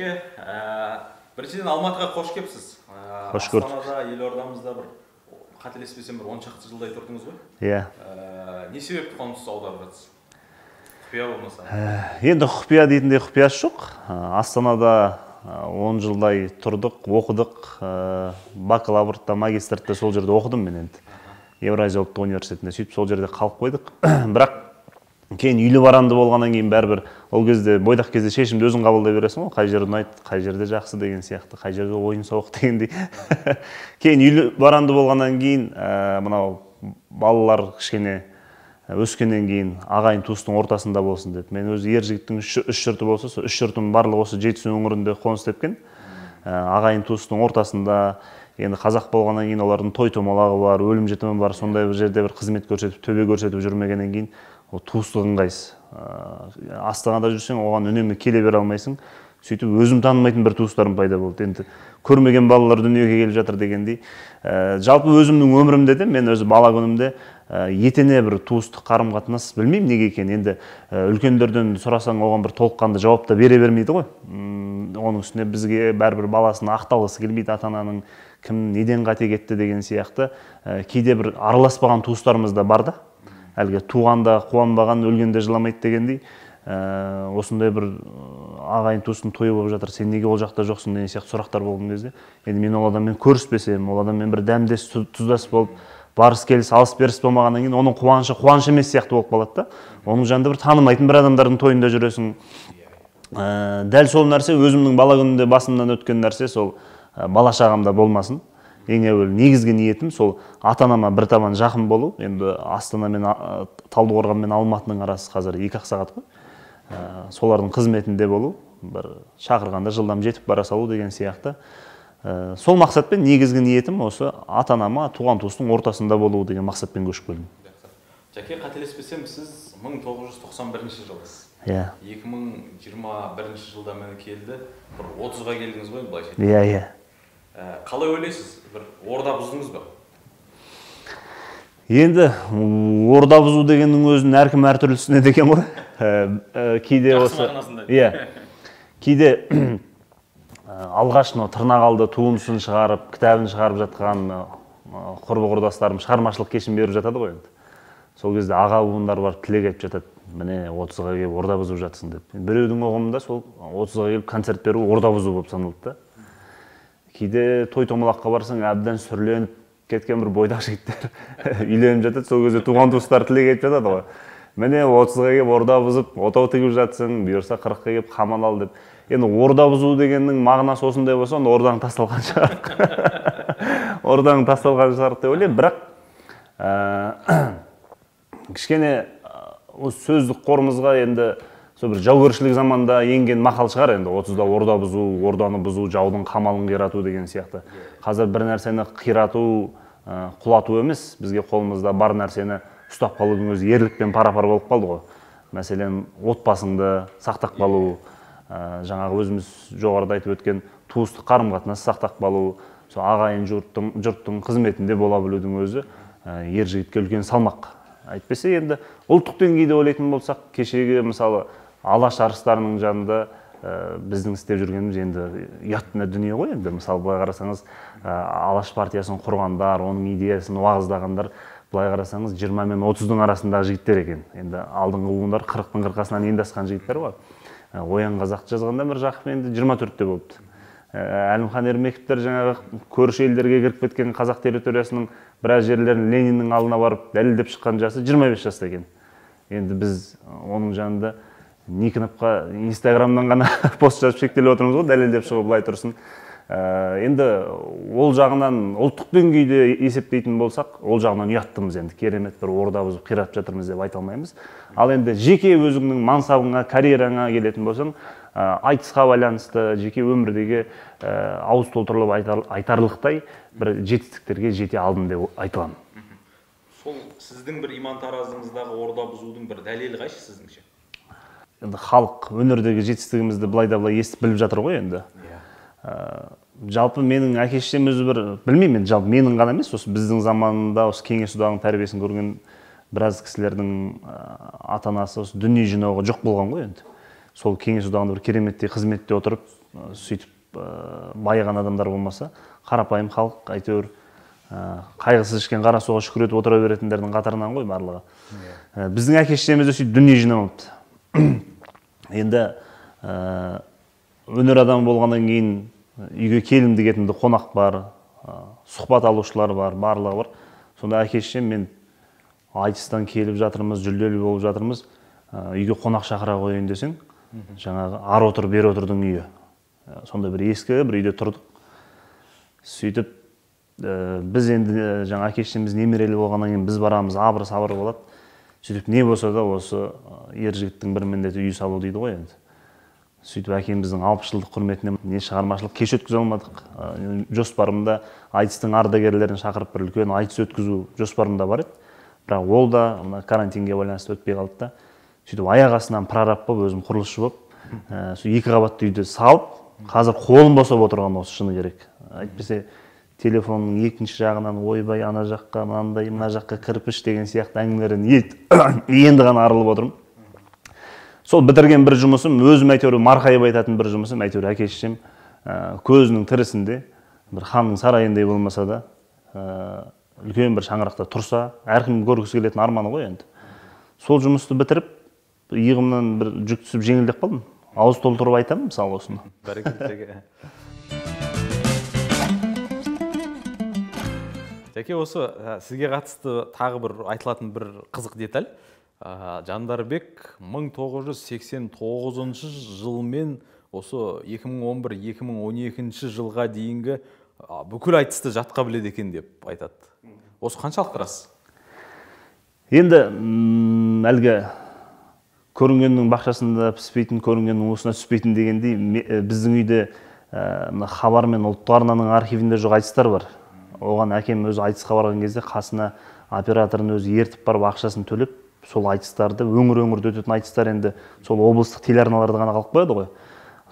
Жаке, біріншіден Алматыға қош келіпсіз. Қош көрдік. Астанада, елордамызда бір қателеспесем бір 10 шақты жылдай тұрдыңыз ғой? Иә. Не себепті қоныс аударып жатсыз? Құпия болмаса. Енді құпия дейтіндей құпиясы жоқ. Астанада 10 жылдай тұрдық, оқыдық. Бакалаврда, магистрда сол жерде оқыдым мен енді. Евразия ұлттық университетінде сөйтіп сол жерде қалып қойдық. Бірақ кейін үйлі баранды болғаннан кейін бәрібір ол кезде бойдақ кезде шешімді өзің қабылдай бересің ғой, қай жер ұнайды, қай жерде жақсы деген сияқты, қай жерде ойын сауық дегендей. Кейін үйлі баранды болғаннан кейін мынау балалар кішкене өскеннен кейін ағайын туыстың ортасында болсын деп. Мен өзі ер жігіттің үш жұрты болса, сол үш жұртым барлығы осы Жетісу өңірінде қоныс тепкен. Ағайын туыстың ортасында, енді қазақ болғаннан кейін олардың той томалағы бар, өлім жітімі бар, сондай бір жерде бір қызмет көрсетіп, төбе көрсетіп жүрмегеннен кейін ол туыстық ыңғайсыз. Астанада жүрсең, оған үнемі келе бере алмайсың. Сөйтіп өзім танымайтын бір туыстарым пайда болды. Енді көрмеген балалар дүниеге келіп жатыр дегендей. Жалпы өзімнің өмірімде де, мен өзі бала күнімде етене бір туыстық қарым-қатынас білмеймін неге екен. Енді үлкендерден сұрасаң, оған бір толыққанды жауап та бере бермейді ғой. Оның үстіне бізге бәрібір баласын ақталғысы келмейді, ата-ананың кім неден қате кетті деген сияқты. Кейде бір араласпаған туыстарымыз да бар да. Әлгі туғанда қуанбаған, өлгенде жыламайды дегендей. Осындай бір ағайын туыстың тойы болып жатыр, сен неге ол жақта жоқсың деген сияқты сұрақтар болған кезде, енді мен ол адаммен көріспесем, ол адаммен бір дәмдес тұздас болып, барыс келіс алыс беріс болмағаннан кейін оның қуанышы қуаныш емес сияқты болып қалады да. Оның жанында бір танымайтын бір адамдардың тойында жүресің. Дәл сол нәрсе өзімнің бала күнімде басымнан өткен нәрсе, сол бала шағамда болмасын. Ең әуел негізгі ниетім сол ата-анама бір табан жақын болу. Енді Астана мен Талдықорған мен Алматының арасы қазір 2 сағат қой. Солардың қызметінде болу, бір шақырғанда жылдам жетіп бара салу деген сияқты. Сол мақсатпен негізгі ниетім осы ата-анама туған туыстың ортасында болу деген мақсатпен көшіп келдім. Жаке, қателеспесем, сіз 1991 жылысыз. Иә. 2021 жылда мені келді, бір 30-ға келдіңіз ғой, былайша. Иә, иә. Қалай ойлайсыз? Бір орда бұздыңыз ба? Енді орда бұзу дегеннің өзін әркім әртүрлі түсінеді екен ғой. Кейде осы, иә, кейде алғаш тырнақ алды туындысын шығарып, кітабын шығарып жатқан құрбы-құрдастарым шығармашылық кешін беріп жатады ғой енді. Сол кезде аға буындар барып тілек айтып жатады, міне 30-ға келіп орда бұзып жатсың деп. Біреудің ұғымында сол 30-ға келіп концерт беру орда бұзу болып саналды да. Кейде той томалаққа барсаң, әбден сүрленіп кеткен бір бойдақ жігіттер үйленіп жатады, сол кезде туған туыстар тілек айтып жатады ғой. Міне 30-ға келіп орда бұзып, отау тігіп жатсың, бұйырса 40-қа келіп қамал ал деп. Енді орда бұзу дегеннің мағынасы осындай болса, онда ордаң тасталған шығар. Ордаң тасталған шығар деп ойлаймын, бірақ кішкене сөздік қорымызға енді бір жаугершілік заманда енген мақал шығар, енді 30-да орда бұзу, орданы бұзу, жаудың қамалын қирату деген сияқты. Қазір бір нәрсені қирату, құлату емес, бізге қолымызда бар нәрсені ұстап қалудың өзі ерлікпен пара-пар болып қалды ғой. Мәселен, отбасыңды сақтап қалу, жаңағы өзіміз жоғарыда айтып өткен туыстық қарым-қатынас сақтап қалу, ағайын жұрттың қызметінде бола білудің өзі ер жігітке үлкен салмақ. Әйтпесе енді ұлттық деңгейде ойлайтын болсақ, кешегі мысалы Алаш арыстарының жанында біздің істеп жүргеніміз енді ұятты дүние ғой енді. Мысалы былай қарасаңыз, Алаш партиясын құрғандар, оның идеясын уағыздағандар, былай қарасаңыз 20 мен 30-дың арасындағы жігіттер екен. Енді алдыңғы буындар 40-тың қырқасынан енді асқан жігіттер ғой. Оян қазақты жазғанда Міржақып енді 24-те болыпты. Әлімхан Ермековтер жаңағы көрші елдерге кіріп кеткен қазақ территориясының біраз жерлерін Лениннің алдына барып дәлелдеп шыққан жасы 25 жаста екен. Енді біз оның жанында Никоновқа Инстаграмнан ғана пост жазып шектеліп отырмыз ғой, дәлелдеп шығып былай тұрсын. Енді ол жағынан ұлттық деңгейде есептейтін болсақ, ол жағынан ұяттымыз енді, керемет бір орда бұзып қиратып жатырмыз деп айта алмаймыз. Ал енді жеке өзіңнің мансабыңа, карьераңа келетін болсаң, айтысқа байланысты, жеке өмірдегі ауыз толтырылып айтарлықтай бір жетістіктерге жете алдым деп айтыламын. Сол сіздің бір иман таразыңыздағы орда бұзудың бір дәлелі қайсы сіздіңше? Енді халық өнердегі жетістігімізді былай да былай естіп біліп жатыр ғой енді. Жалпы менің әке-шешем өзі бір, білмеймін, жалпы менің ғана емес, осы біздің заманында осы кеңес одағының тәрбиесін көрген біраз кісілердің ата-анасы осы дүние жинауға жоқ болған ғой енді. Сол кеңес одағында бір кереметтей қызметте отырып, сөйтіп байыған адамдар болмаса, қарапайым халық әйтеуір қайғысыз ішкен қара суға шүкір етіп отыра беретіндердің қатарынан ғой барлығы. Біздің әке-шешеміз де сөйтіп дүние жинамапты. Енді өнер адамы болғаннан кейін үйге келімді кетімді қонақ бар, сұхбат алушылар бар, барлығы бар. Сонда әке-шешем мен айтыстан келіп жатырмыз, жүлделі болып жатырмыз, үйге қонақ шақыра қояйын десең, жаңағы ар отыр, бер отырдың үйі. Сонда бір ескі бір үйде тұрдық. Сөйтіп біз енді жаңа әке-шешеміз немерелі болғаннан кейін біз барамыз, абыр-сабыр болады. Сөйтіп не болса да осы ер жігіттің бір міндеті үй салу дейді ғой енді. Сөйтіп әкеміздің 60 жылдық құрметіне не шығармашылық кеш өткізе алмадық. Жоспарымда айтыстың ардагерлерін шақырып бір үлкен айтыс өткізу жоспарымда бар еді. Бірақ ол да карантинге байланысты өтпей қалды да. Сөйтіп аяқ астынан прораб болып, өзім құрылысшы болып, екі қабатты үйді салып, қазір қолым босап отырған осы шыны керек. Әйтпесе телефонның екінші жағынан ойбай ана жаққа, мынандай, мына жаққа кірпіш деген сияқты әңгімелерден енді ғана арылып отырмын. Сол бітірген бір жұмысым, өзім әйтеуір марқайып айтатын бір жұмысым, әйтеуір әке-шешем көзінің тірісінде, бір ханның сарайындай болмаса да, үлкен бір шаңырақта тұрса, әркім көргісі келетін арманы ғой енді. Сол жұмысты бітіріп, иығымнан бір жүк түсіп жеңілдеп қалдым. Ауыз толтырып айтамын, мысалы осыны. Бәрекелді. Жәке, осы сізге қатысты тағы бір айтылатын бір қызық деталь. Жандарбек 1989 жылмен осы 2011-2012 жылға дейінгі бүкіл айтысты жатқа біледі екен деп айтады. Осы қаншалық рас? Енді әлгі көрінгеннің бақшасында піспейтін, көрінгеннің уысына түспейтін дегендей, біздің үйде хабар мен ұлттық арнаның архивінде жоқ айтыстар бар. Оған әкем өзі айтысқа барған кезде қасына операторын өзі ертіп барып ақшасын төлеп, сол айтыстарды өңір-өңірде өтетін айтыстар енді сол облыстық телеарналарда ғана қалып қояды ғой.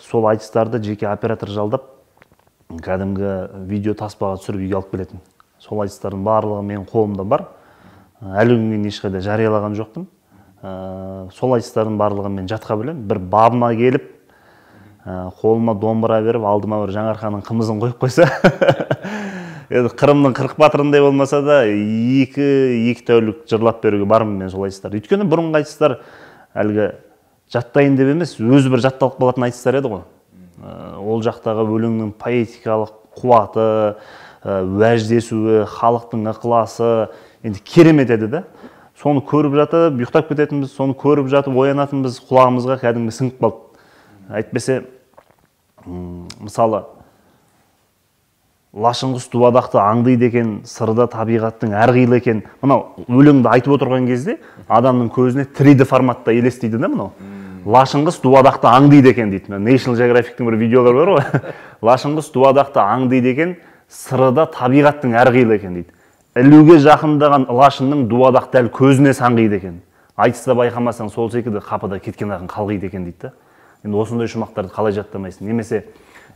Сол айтыстарды жеке оператор жалдап, кәдімгі видео таспаға түсіріп үйге алып келетін. Сол айтыстардың барлығы менің қолымда бар. Әлі күнге ешқайда жариялаған жоқпын. Сол айтыстардың барлығын мен жатқа білемін. Бір бабыма келіп, қолыма домбыра беріп, алдыма бір Жаңарқаның қымызын қойып қойса, Қырымның 40 батырындай болмаса да, екі тәулік жырлап беруге бармын мен сол айтыстар. Өйткені бұрынғы айтыстар әлгі жаттайын деп емес, өзі бір жатталып қалатын айтыстар еді ғой. Ол жақтағы өлеңнің поэтикалық қуаты, уәждесуі, халықтың ықыласы енді керемет еді да. Соны көріп жатып, ұйықтап кететінбіз, соны көріп жатып, оянатынбыз, құлағымызға кәдімгі сіңіп қалды. Әйтпесе, мысалы, лашынғыс дуадақты аңдиды екен, сырда табиғаттың әрқилы екен. Мынау өлеңді айтып отырған кезде адамның көзіне 3D форматта елестейді да мынау. Лашынғыс дуадақты аңдиды екен дейді. National Geographic'тің бір видеолары бар ғой. Лашынғыс дуадақты аңдиды екен, сырда табиғаттың әрқилы екен дейді. Ілуге жақындаған лашынның дуадақ дәл көзіне саңғиды екен. Айтыста байқамасаң сол секілді қапыда кеткен ақын қалғиды екен дейді. Енді осындай жұмақтарды қалай жаттамайсың? Немесе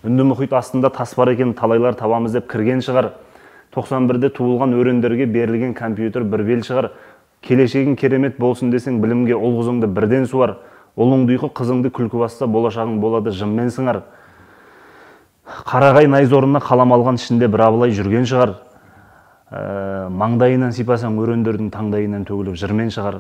үнді мұхит астында тас бар екен, талайлар табамыз деп кірген шығар. 91-де туылған өрендерге берілген компьютер бір бел шығар. Келешегің керемет болсын десең, білімге ұл қызыңды бірден суар. Ұлыңды ұйқы қызыңды күлкі басса, болашағың болады жыммен сыңар. Қарағай найзорына қалам алған ішінде бір абылай жүрген шығар. Маңдайынан сипасаң, өрендердің таңдайынан төгіліп жырмен шығар.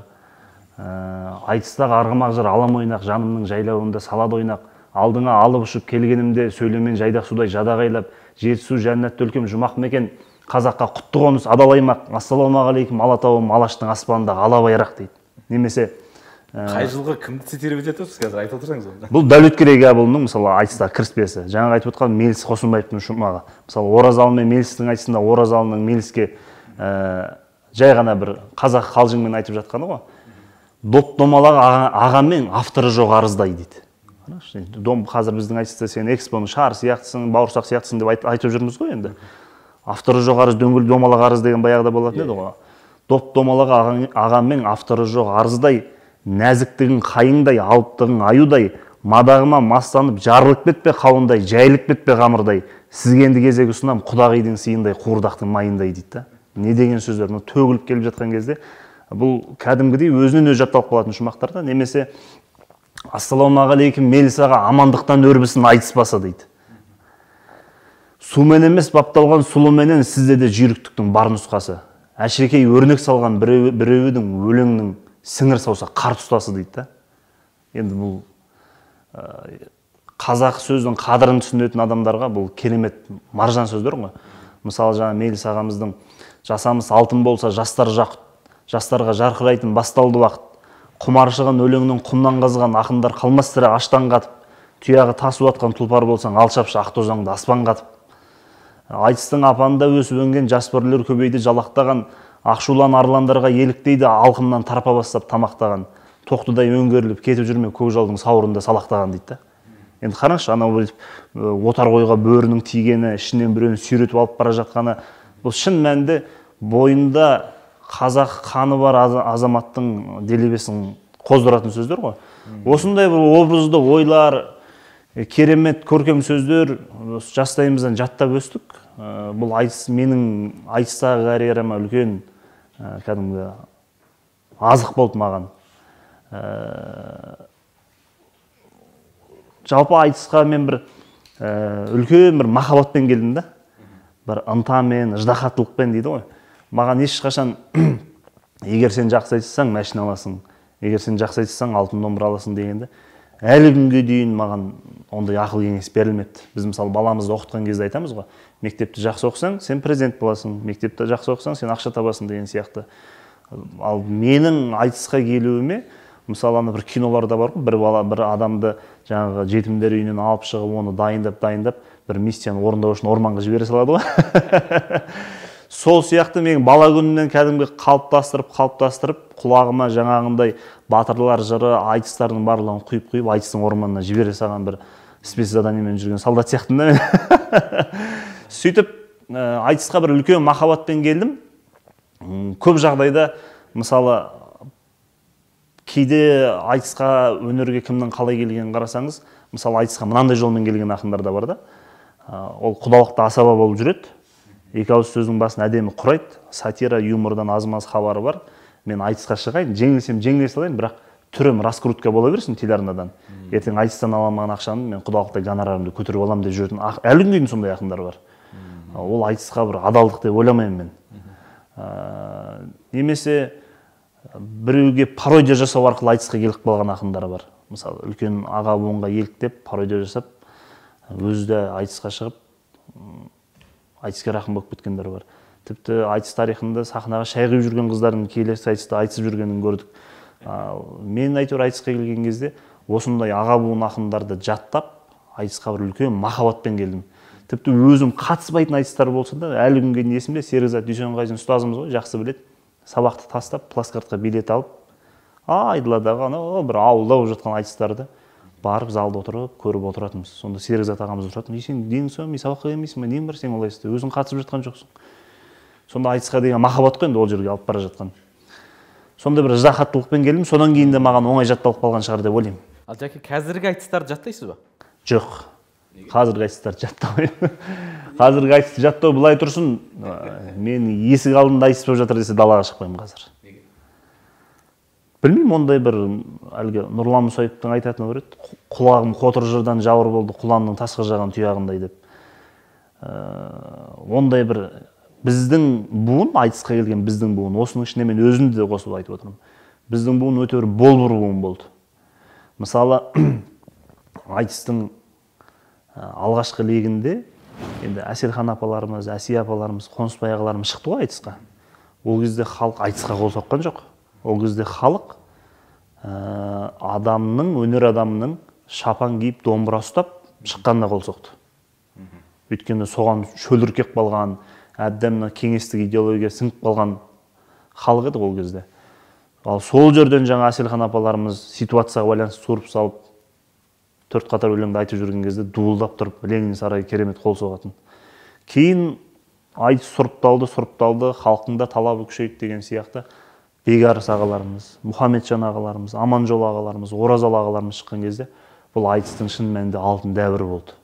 Айтыстағы арғымақ жыр алам ойнақ, жанымның жайлауында салады ойнақ. Алдыңа алып ұшып келгенімде сөйлемен жайдақ судай жадағайлап, жетісу жәннатты өлкем жұмақ мекен, қазаққа құтты қоныс адалаймақ, ассалаумағалейкум алатауым алаштың аспанындағы ала байрақ дейді. Немесе қай жылғы кімді цитировать етіп отырсыз қазір айтып отырсаңыз онда? Бұл Дәулеткерей Кәпұлының мысалы айтыстағы кіріспесі. Жаңа айтып отқан Меліс Қосынбаевтың жұмағы. Мысалы Оразалы мен Мелістің айтысында Оразалының Меліске жай ғана бір қазақ қалжыңмен айтып жатқаны ғой. Доп домалағы ағамен авторы жоқ арыздай дейді. Қазір біздің айтыста сен экспоның шар сияқтысың, бауырсақ сияқтысың деп айтып жүрміз ғой енді. Авторы жоқ арыз, дөңгел домалақ арыз деген баяғыда болатын еді ғой. Доп домалағы ағамен авторы жоқ арыздай, нәзіктігін қайыңдай, алыптығын аюдай, мадағыма мастанып жарылып кетпе қауындай, жайылып кетпе қамырдай, сізге енді кезек ұсынам құдағидың сыйындай, қуырдақтың майындай дейді. Не деген сөздер, төгіліп келіп жатқан кезде бұл кәдімгідей өзінен өзі жатталып қалатын жұмақтар да. Немесе Ассалаумағалейкум, Мелисаға амандықтан өрбісін айтыспаса дейді. Сумен емес бапталған сұлыменен сізде де жүйріктіктің бар нұсқасы. Әшірекей өрнек салған біреудің өлеңнің сіңір сауса қар тұстасы дейді. Енді бұл қазақ сөздің қадірін түсінетін адамдарға бұл керемет маржан сөздер ғой. Мысалы жаңа Мелис ағамыздың жасамыс алтын болса жастар жақұт, жастарға жарқырайтын басталды уақыт. Құмаршығын өлеңнің құмнан қазған ақындар қалмас тірі аштан қатып, тұяғы тасу атқан тұлпар болсаң алшапшы ақтозаңды аспан қатып. Айтыстың апанында өсіп өнген жас бүрлер көбейді жалақтаған, ақшулан арландарға еліктейді алқымнан тарпа бастап тамақтаған, тоқтыдай өңгеріліп кетіп жүрме көкжалдың сауырында салақтаған дейді. Енді қараңызшы, анау отар қойға бөрінің тигені, ішінен біреуін сүйретіп алып бара жатқаны, бұл шын мәнінде бойында қазақ қаны бар азаматтың делебесін қоздыратын сөздер ғой. Осындай бір образды ойлар, керемет көркем сөздер жастайымыздан жаттап өстік. Бұл айтыс менің айтыстағы карьерама үлкен кәдімгі азық болды маған. Жалпы айтысқа мен бір үлкен бір махаббатпен келдім да. Бір ынтамен, ыждахаттылықпен дейді ғой. Маған ешқашан егер сен жақсы айтсаң машина аласың, егер сен жақсы айтсаң алтын домбыра аласың дегенде әлі күнге дейін маған ондай ақыл кеңес берілмепті. Біз мысалы баламызды оқытқан кезде айтамыз ғой, мектепті жақсы оқысаң, сен президент боласың, мектепті жақсы оқысаң, сен ақша табасың деген сияқты. Ал менің айтысқа келуіме, мысалы ана бір киноларда бар ғой, бір адамды жаңағы жетімдер үйінен алып шығып, оны дайындап, бір миссияны орындау үшін орманға жібере салады ғой. Сол сияқты мен бала күнінен кәдімгі қалыптастырып, құлағыма жаңағындай батырлар жыры, айтыстардың барлығын құйып, айтыстың орманына жібере салған бір спецзаданиемен жүрген солдат сияқтымын да мен. Сөйтіп, айтысқа бір үлкен махаббатпен келдім. Көп жағдайда, мысалы, кейде айтысқа өнерге кімнің қалай келгенін қарасаңыз, мысалы, айтысқа мынандай жолмен келген ақындар да бар да. Ол құдалықта асаба болып жүреді. Екі ауыз сөздің басын әдемі құрайды, сатира, юмордан аз-маз хабары бар. Мен айтысқа шығайын, жеңілсем жеңіле салайын, бірақ түрім раскрутка бола берсін телеарнадан. Ертең айтыстан аламаған ақшаны мен құдалықта гонорарымды көтеріп алам деп жүретін әлі күнге дейін сондай ақындар бар. Ол айтысқа бір адалдық деп ойламаймын мен. Немесе біреуге пародия жасау арқылы айтысқа келіп қалған ақындар бар. Мысалы, үлкен аға буынға еліктеп пародия жасап, өзі де айтысқа шығып айтыскер ақын болып кеткендер бар. Тіпті айтыс тарихында сахнаға шай құйып жүрген қыздардың келесі айтыста айтысып жүргенін көрдік. Мен әйтеуір айтысқа келген кезде осындай аға буын ақындарды жаттап, айтысқа бір үлкен махаббатпен келдім. Тіпті өзім қатыспайтын айтыстар болса да, әлі күнге дейін есімде Серікзат Дүйсенғазин ұстазымыз ғой, жақсы біледі. Сабақты тастап, плацкартқа билет алып, Айдыладағы бір ауылда болып жатқан айтыстарды барып залда отырып, көріп отыратынбыз. Сонда Серікзат ағамыз отыратын, сен дең соң, мен сабаққа келмейсің бе, нең бар сен олай істе, өзің қатысып жатқан жоқсың. Сонда айтысқа деген махаббат қой енді ол жерге алып бара жатқан. Сонда бір ыждахаттылықпен келдім, содан кейін де маған оңай жатталып қалған шығар деп ойлаймын. Ал жәке, қазіргі айтыстарды жаттайсыз ба? Жоқ. Қазіргі айтыстарды жаттамаймын. Қазіргі айтысты жаттау былай тұрсын, мен есік алдында айтыс болып жатыр десе далаға шықпаймын қазір. Білмеймін, ондай бір әлгі Нұрлан Мұсайыптың айтатыны бар еді. Құлағым қотыр жырдан жауыр болды, құланның тасқа жаған тұяғындай деп. Ондай бір біздің буын, айтысқа келген біздің буын, осының ішіне мен өзімді де қосып айтып отырмын. Біздің буын өте бір болбыр буын болды. Мысалы, айтыстың алғашқы легінде енді Әселхан апаларымыз, Әсия апаларымыз, Қонысбай ағаларымыз шықты ғой айтысқа. Ол кезде халық айтысқа қол соққан жоқ. Ол кезде халық өнер адамының шапан киіп домбыра ұстап шыққанына қол соқты. Өйткені соған шөліркеп қалған, әбден кеңестік идеология сіңіп қалған халық еді ол кезде. Ал сол жерден жаңа Әселхан апаларымыз ситуацияға байланысты суырып салып, төрт қатар өлеңді айтып жүрген кезде дуылдап тұрып, Ленин сарайы керемет қол соғатын. Кейін айтыс сұрыпталды, халықтың да талабы күшейді деген сияқты Бекарыс ағаларымыз, Мұхамеджан ағаларымыз, Аманжол ағаларымыз, Оразалы ағаларымыз шыққан кезде бұл айтыстың шын мәнінде алтын дәуірі болды.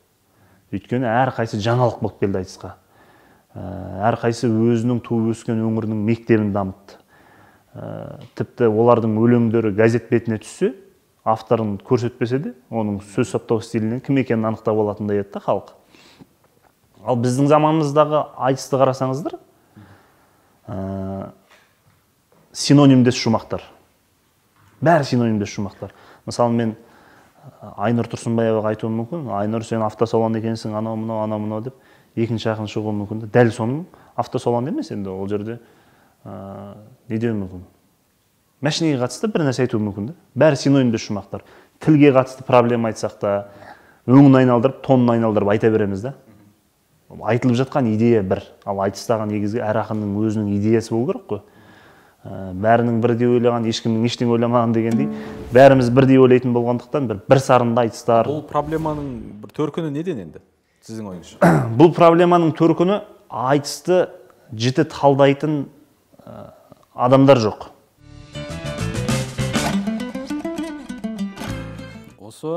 Өйткені әрқайсы жаңалық болып келді айтысқа. Әрқайсы өзінің туып өскен өңірінің мектебін дамытты. Тіпті олардың өлеңдері газет бетіне түссе, авторын көрсетпесе де, оның сөз саптау стилінен кім екенін анықтап алатындай еді да халық. Ал біздің заманымыздағы айтысты қарасаңыздар, синонимдес жұмақтар. Бәрі синонимдес жұмақтар. Мысалы, мен Айнұр Тұрсынбаеваға айтуым мүмкін. Айнұр, сен автосалон екенсің, анау мынау деп екінші ақын шығуы мүмкін. Дәл соның автосалон емес енді, ол жерде не деуі мүмкін. Мәшинеге қатысты бір нәрсе айтуы мүмкін. Бәрі синонимдес жұмақтар. Тілге қатысты проблема айтсақ та, өңін айналдырып, тонын айналдырып айта береміз да. Айтылып жатқан идея бір, ал айтыстаған негізгі әр ақынның өзінің идеясы болу керек қой. Бәрінің бірдей ойлаған, ешкімнің ештеңе ойламаған дегендей, бәріміз бірдей ойлайтын болғандықтан бір сарында айтыстар. Бұл проблеманың бір төркіні неден енді, сіздің ойыңызша? Бұл проблеманың төркіні айтысты жіті талдайтын адамдар жоқ. Осы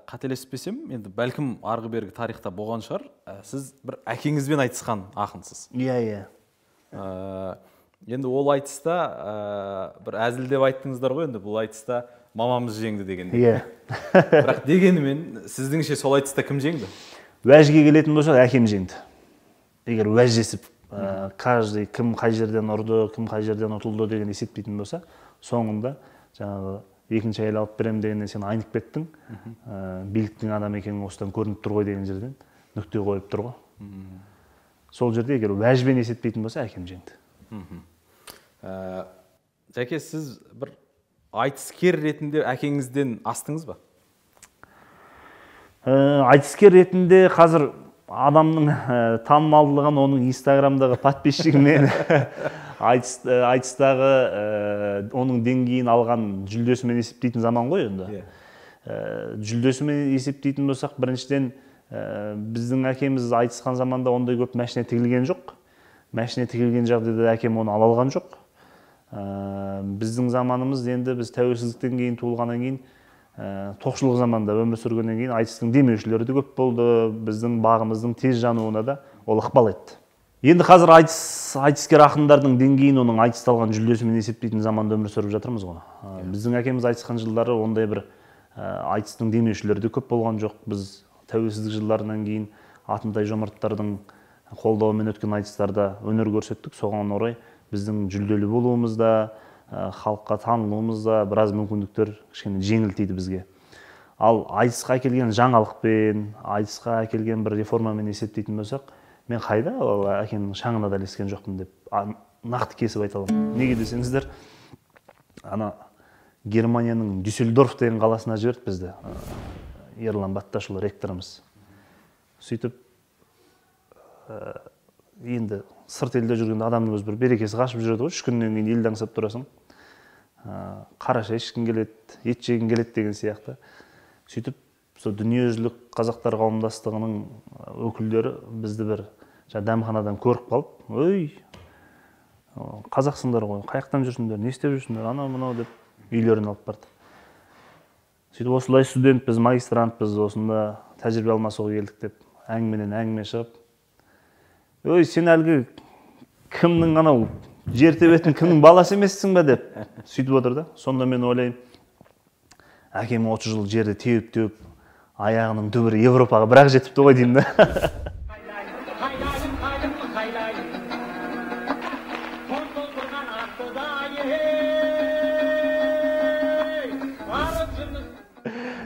қателеспесем, енді бәлкім арғы бергі тарихта болған шығар, сіз бір әкеңізбен айтысқан ақынсыз. Иә. Енді ол айтыста бір әзілдеп айттыңыздар ғой, енді бұл айтыста мамамыз жеңді дегенде. Иә. Бірақ дегенімен, сіздіңше сол айтыста кім жеңді? Уәжге келетін болса, әкем жеңді. Егер уәж жесіп, каждый кім қай жерден ұрды, кім қай жерден ұтылды деген есептейтін болса, соңында жаңағы екінші әйел алып беремін дегеннен сен айнып кеттің, биліктің адам екенің осыдан көрініп тұр ғой деген жерден нүкте қойып тұр ғой. Сол жерде егер уәжбен есептейтін болса, әкем жеңді. Жәке, сіз бір айтыскер ретінде әкеңізден астыңыз ба? Айтыскер ретінде қазір адамның танымалдылығын оның инстаграмдағы подписчигімен айтыстағы оның деңгейін алған жүлдесімен есептейтін заман ғой енді. Жүлдесімен есептейтін болсақ, біріншіден біздің әкеміз айтысқан заманда ондай көп машина тігілген жоқ. Машина тігілген жағдайда әкем оны ала алған жоқ. Біздің заманымыз енді біз тәуелсіздіктен кейін туылғаннан кейін тоқшылық заманда өмір сүргеннен кейін айтыстың демеушілері де көп болды. Біздің бағымыздың тез жануына да ол ықпал етті. Енді қазір айтыскер ақындардың деңгейін оның айтысталған жүлдесімен есептейтін заманда өмір сүріп жатырмыз ғой. Біздің әкеміз айтысқан жылдары ондай бір айтыстың демеушілері де көп болған жоқ. Біз тәуелсіздік жылдарынан кейін Атынтай Жомарттардың қолдауымен өткен айтыстарда өнер көрсеттік. Соған орай біздің жүлделі болуымызда, халыққа танылуымызда біраз мүмкіндіктер кішкене жеңіл тиді бізге. Ал айтысқа әкелген жаңалықпен, айтысқа әкелген бір реформамен есептейтін болсақ, мен қайда әкемнің шаңына да ілескен жоқпын деп нақты кесіп айта аламын. Неге десеңіздер, ана Германияның Дюссельдорф деген қаласына жіберді бізді Ерлан Батташұлы ректорымыз. Сөйтіп енді сырт елде жүргенде адамның өзі бір берекесі қашып жүреді ғой, 3 күннен кейін елді аңсап тұрасың. Қара шай ішкің келеді, ет жегің келеді деген сияқты. Сөйтіп дүниежүзілік қазақтар қауымдастығының өкілдері бізді бір дәмханадан көріп қалып, "Ой, қазақсыңдар ғой, қаяқтан жүрсіңдер, не істеп жүрсіңдер, анау мынау" деп үйлерін алып барды. Сөйтіп осылай студентпіз, магистрантпыз, осында тәжірибе алмасуға келдік деп әңгіменен әңгіме шығып, "Ой, сен әлгі кімнің анау жер тебетін кімнің баласы емессің ба" деп сөйтіп отыр да. Сонда мен ойлаймын, әкем 30 жыл жерді теуіп аяғының түбірі Европаға бірақ жетіпті ғой деймін да.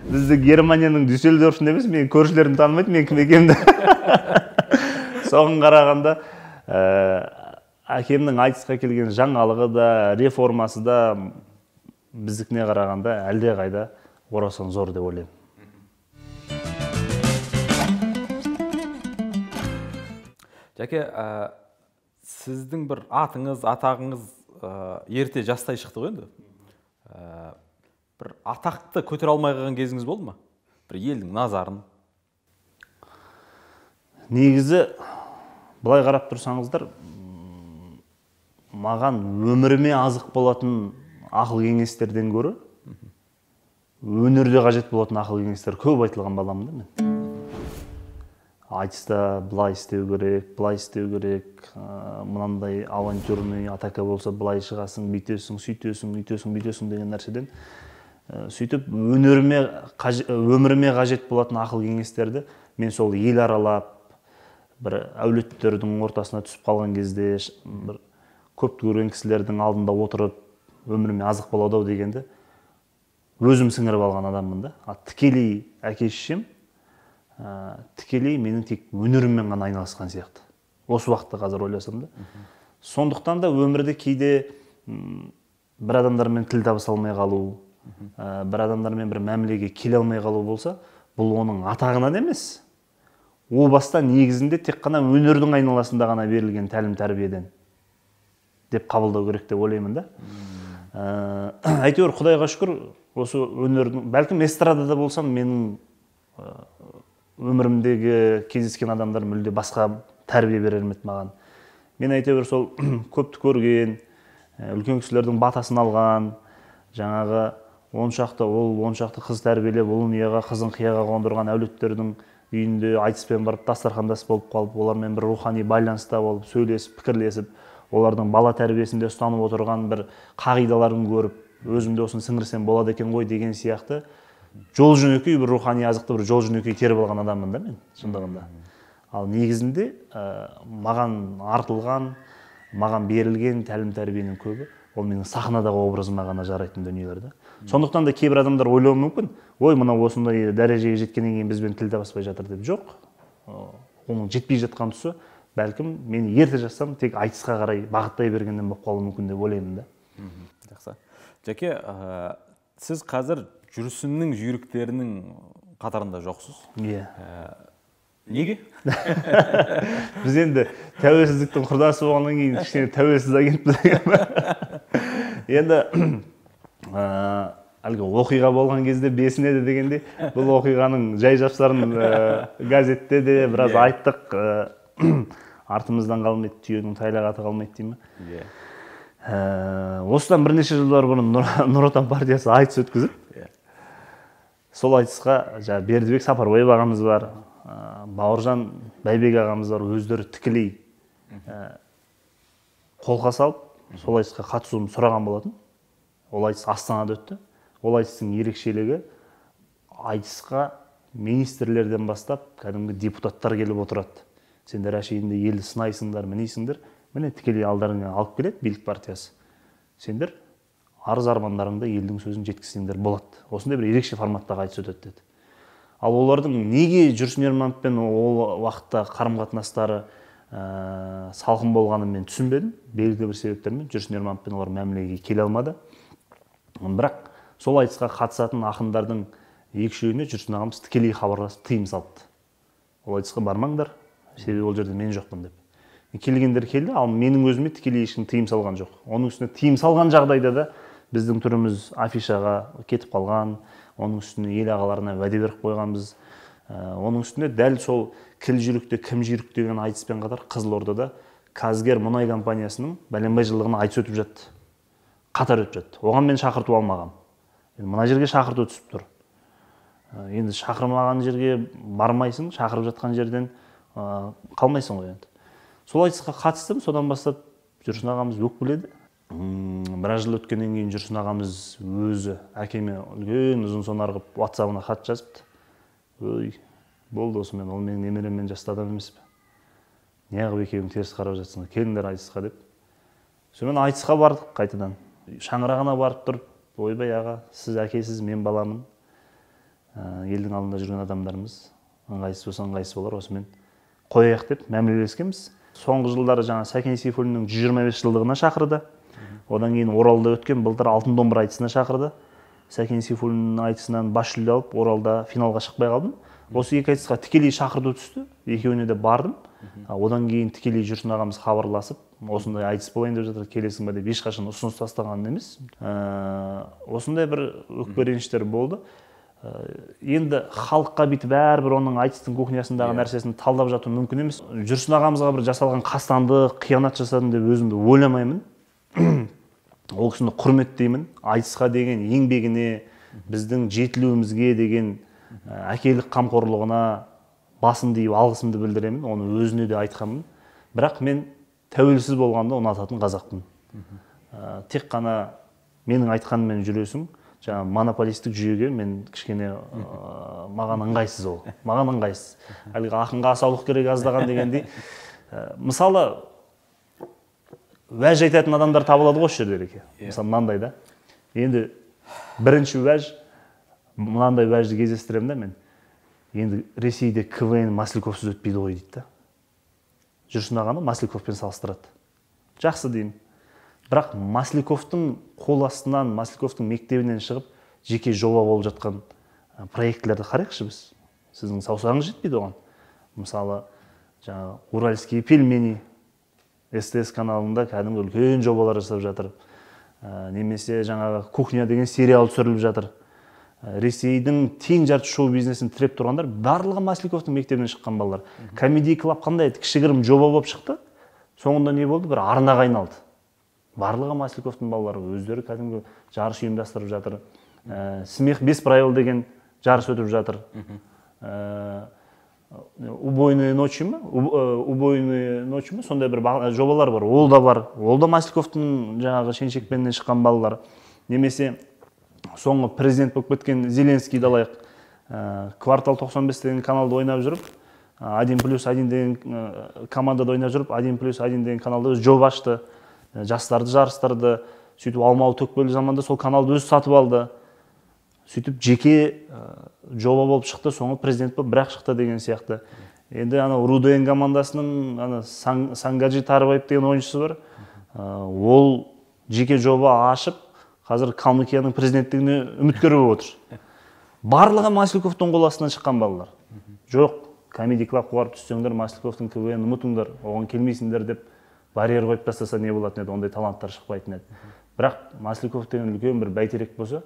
Бізді Германияның Дюссельдорфында емес, мен көршілерім танымайды, мен кім екенімді. Соған қарағанда әкемнің айтысқа келген жаңалығы да, реформасы да біздікіне қарағанда әлде қайда орасан зор деп ойлаймын. Жәке, сіздің бір атыңыз, атағыңыз ерте жастай шықты ғой енді. Бір атақты көтере алмай қалған кезіңіз болды ма? Бір елдің назарын. Негізі, былай қарап тұрсаңыздар, маған өміріме азық болатын ақыл кеңестерден гөрі, өнерде қажет болатын ақыл кеңестер көп айтылған баламын да мен. Айтыста былай істеу керек, былай істеу керек, мынандай авантюрный атака болса былай шығасың, бүйтесің, сөйтесің, үйтесің, бүйтесің деген нәрседен сөйтіп өміріме қажет болатын ақыл кеңестерді мен сол ел аралап, бір әулеттердің ортасына түсіп қалған кезде, бір көп көрген кісілердің алдында отырып, өміріме азық болады дегенді өзім сіңіріп алған адаммын да. Тікелей әке-шешем тікелей менің тек өнеріммен ғана айналысқан сияқты. Осы уақытта қазір ойласам да. Сондықтан да өмірде кейде бір адамдармен тіл табыса алмай қалу, бір адамдармен бір мәмілеге келе алмай қалу болса, бұл оның атағынан емес. О баста негізінде тек қана өнердің айналасында ғана берілген тәлім-тәрбиеден деп қабылдау керек деп ойлаймын да. Әйтеуір Құдайға шүкір, осы өнердің, бәлкім эстрадада болсам, менің өмірімдегі кездескен адамдар мүлде басқа тәрбие берер ме еді маған. Мен әйтеуір сол көпті көрген, үлкен кісілердің батасын алған, жаңағы оншақты қыз тәрбиелеп, ұлын ұяға, қызын қияға қондырған әулеттердің үйінде айтыспен барып дастархандас болып қалып, олармен бір рухани байланыста болып, сөйлесіп, пікірлесіп, олардың бала тәрбиесінде ұстанып отырған бір қағидаларын көріп, өзімде осыны сіңірсем болады екен ғой деген сияқты жол жөнекей бір рухани азықты бір жол жөнекей теріп алған адаммын да мен шындығында. Ал негізінде маған артылған, маған берілген тәлім-тәрбиенің көбі ол менің сахнадағы образыма ғана жарайтын дүниелер да. Сондықтан да кейбір адамдар ойлауы мүмкін, ой, мына осындай дәрежеге жеткеннен кейін бізбен тіл табыспай жатыр деп. Жоқ. Оның жетпей жатқан тұсы, бәлкім мен ерте жазсам тек айтысқа қарай бағыттай бергеннен болып қалуы мүмкін деп ойлаймын да. Жақсы. Жәке, сіз қазір жүрсіннің жүйріктерінің қатарында жоқсыз. Иә. Неге? Біз енді тәуелсіздіктің құрдасы болғаннан кейін кішкене тәуелсіз агентпіз деген. Енді әлгі оқиға болған кезде бесінеді дегенде, бұл оқиғаның жай жапсарын газетте де біраз айттық. Артымыздан қалмайды, түйенің тайлағаты қалмайды деймін. Осыдан бірнеше жылдар бұрын Нұр Отан партиясы айтыс өткізіп, сол айтысқа Бердібек Сапарбаев ағамыз бар, Бауыржан Байбек ағамыз бар, өздері тікелей қолқа салып, сол айтысқа қатысуымды сұраған болатын. Ол айтыс Астанада өтті. Ол айтыстың ерекшелігі, айтысқа министрлерден бастап кәдімгі депутаттар келіп отырады. Сендер әшейінде елді сынайсыңдар, мінейсіңдер, міне тікелей алдарыңа алып келеді билік партиясы. Сендер арыз-армандарыңды елдің сөзін жеткізсеңдер болады. Осындай бір ерекше форматтағы айтыс өтеді деді. Ал олардың неге Жүрсін Ермановпен ол уақытта қарым-қатынастары салқын болғанын мен түсінбедім. Белгілі бір себептермен Жүрсін Ермановпен олар мәмілеге келе алмады. Бірақ сол айтысқа қатысатын ақындардың екі-үшеуіне Жүрсін ағамыз тікелей хабарласып тыйым салды. Ол айтысқа бармаңдар, себебі ол жерде мен жоқпын деп. Келгендер келді, ал менің өзіме тікелей ешкім тыйым салған жоқ. Оның үстіне тыйым салған жағдайда да біздің түріміз афишаға кетіп қалған, оның үстіне ел ағаларына уәде беріп қойғанбыз. Оның үстіне дәл сол кіл жүйрікте кім жүйрік деген айтыспен қатар Қызылордада Қазгер мұнай компаниясының бәленбай жылдығына айтыс өтіп жатты. Қатар өтіп жатты. Оған мен шақырту алмағам. Мына жерге шақырту түсіп тұр. Енді шақырмаған жерге бармайсың, шақырып жатқан жерден қалмайсың ғой енді. Сол айтысқа қатыстым, содан бастап Жүрсін ағамыз өкпеледі. Біраз жыл өткеннен кейін Жүрсін ағамыз өзі әкеме үлкен ұзын сонар қылып WhatsApp-ына хат жазыпты. Ой, болды осымен, ол менің немереммен жасты адам емес пе? Неғып екеуің теріс қарап жатсыңдар, келіңдер айтысқа деп. Сонымен айтысқа бардық қайтадан. Шаңырағына барып тұрып, ойбай аға, сіз әкесіз, мен баламын. Елдің алдында жүрген адамдарымыз, ыңғайсыз болса ыңғайсыз болар, осымен қояйық деп мәмілелескенбіз. Соңғы жылдары жаңа Сәкен Сейфуллиннің 125 жылдығына шақырды. Одан кейін Оралда өткен былтыр алтын домбыра айтысына шақырды. Сәкен Сейфуллиннің айтысынан бас жүлде алып, Оралда финалға шықпай қалдым. Осы екі айтысқа тікелей шақырту түсті. Екеуіне де бардым. Одан кейін тікелей Жүрсін ағамыз хабарласып, осындай айтыс болайын деп жатыр, келесің ба деп ешқашан ұсыныс тастаған емес. Осындай бір өкпе-реніштер болды. Енді халыққа бүйтіп бәрібір оның айтыстың кухнясындағы нәрсесін талдап жату мүмкін емес. Жүрсін ағамызға бір жасалған қастандық, қиянат жасадым деп өзімді ойламаймын. Ол кісіні құрметтеймін. Айтысқа деген еңбегіне, біздің жетілуімізге деген әкелік қамқорлығына басын дейіп алғысымды білдіремін. Оны өзіне де айтқанмын. Бірақ мен тәуелсіз болғанда ұнататын қазақпын. Тек қана менің айтқаныммен жүресің, жаңа монополистік жүйеге мен кішкене маған ыңғайсыз ол. Маған ыңғайсыз. Әлгі ақынға асаулық керек аздаған дегендей. Мысалы, уәж айтатын адамдар табылады ғой осы жерде. Мысалы, мынандай да. Енді бірінші уәж, мынандай уәжді кездестіремін да мен. Енді Ресейде КВН Масляковсыз өтпейді ғой дейді да. Жүрсін ағаны Масляковпен салыстырады. Жақсы деймін. Бірақ Масляковтың қол астынан, Масляковтың мектебінен шығып, жеке жоба болып жатқан проектілерді қарайықшы біз. Сіздің саусағыңыз жетпейді оған. Мысалы, жаңа Уральские пельмени СТС каналында кәдімгі үлкен жобалар жасап жатыр. Немесе жаңағы кухня деген сериал түсіріліп жатыр. Ресейдің тең жарты шоу бизнесін тіреп тұрғандар барлығы Масляковтың мектебінен шыққан балалар. Comedy Club қандай еді? Кішігірім жоба болып шықты. Соңында не болды? Бір арнаға айналды. Барлығы Масляковтың балалары өздері кәдімгі жарыс ұйымдастырып жатыр. Смех без правил деген жарыс өтіп жатыр. Убойные ночи ма? Убойные ночи ма? Сондай бір жобалар бар. Ол да бар. Ол да Масляковтың жаңағы шен-шекпенінен шыққан балалар. Немесе соңғы президент болып кеткен Зеленскийді алайық. Квартал 95 деген каналда ойнап жүріп, 1+1 деген командада ойнап жүріп, 1+1 деген каналда өз жоба ашты. Жастарды жарыстырды. Сөйтіп Алмалы Төкпелі заманда сол каналды өзі сатып алды. Сөйтіп жеке жоба болып шықты, соңғы президент болып бірақ шықты деген сияқты. Енді РУДН командасының Сангаджи Тарыбаев деген ойыншысы бар. Ол жеке жоба ашып, қазір Калмыкияның президенттігіне үміткер болып отыр. Барлығы Масляковтың қол астынан шыққан балалар. Жоқ, Comedy Club барып түссеңдер, Масляковтың КВН ұмытыңдар, оған келмейсіңдер деп барьер қойып тастаса не болатын еді, ондай таланттар шықпайтын еді. Бірақ Масляков деген үлкен бір бәйтерек болса,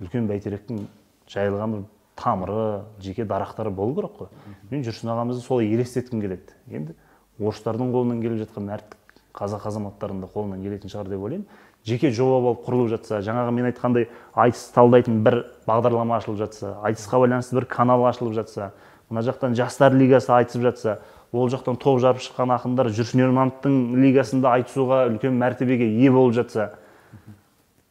үлкен бәйтеректің жайылған бір тамыры, жеке дарақтары болу керек қой. Мен Жүрсін ағамызды солай елестеткім келеді. Енді орыстардың қолынан келіп жатқан мәрттік қазақ азаматтарының да қолынан келетін шығар деп ойлаймын. Жеке жоба болып құрылып жатса, жаңағы мен айтқандай айтыс талдайтын бір бағдарлама ашылып жатса, айтысқа байланысты бір канал ашылып жатса, мына жақтан жастар лигасы айтысып жатса, ол жақтан топ жарып шыққан ақындар Жүрсін Ермановтың лигасында айтысуға үлкен мәртебеге ие болып жатса,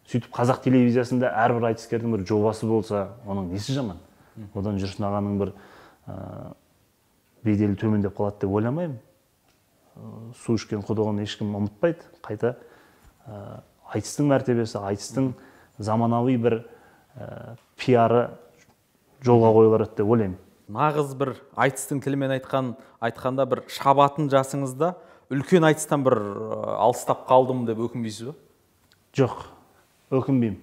сөйтіп қазақ телевизиясында әрбір айтыскердің бір жобасы болса, оның несі жаман? Одан Жүрсін ағаның бір беделі төмендеп қалады деп ойламаймын. Су ішкен құдығын ешкім ұмытпайды. Қайта айтыстың мәртебесі, айтыстың заманауи бір пиары жолға қойылады деп ойлаймын. Нағыз бір айтыстың тілімен айтқанда бір шабатын жасыңызда үлкен айтыстан бір алыстап қалдым деп өкінбейсіз ба? Жоқ, өкінбеймін.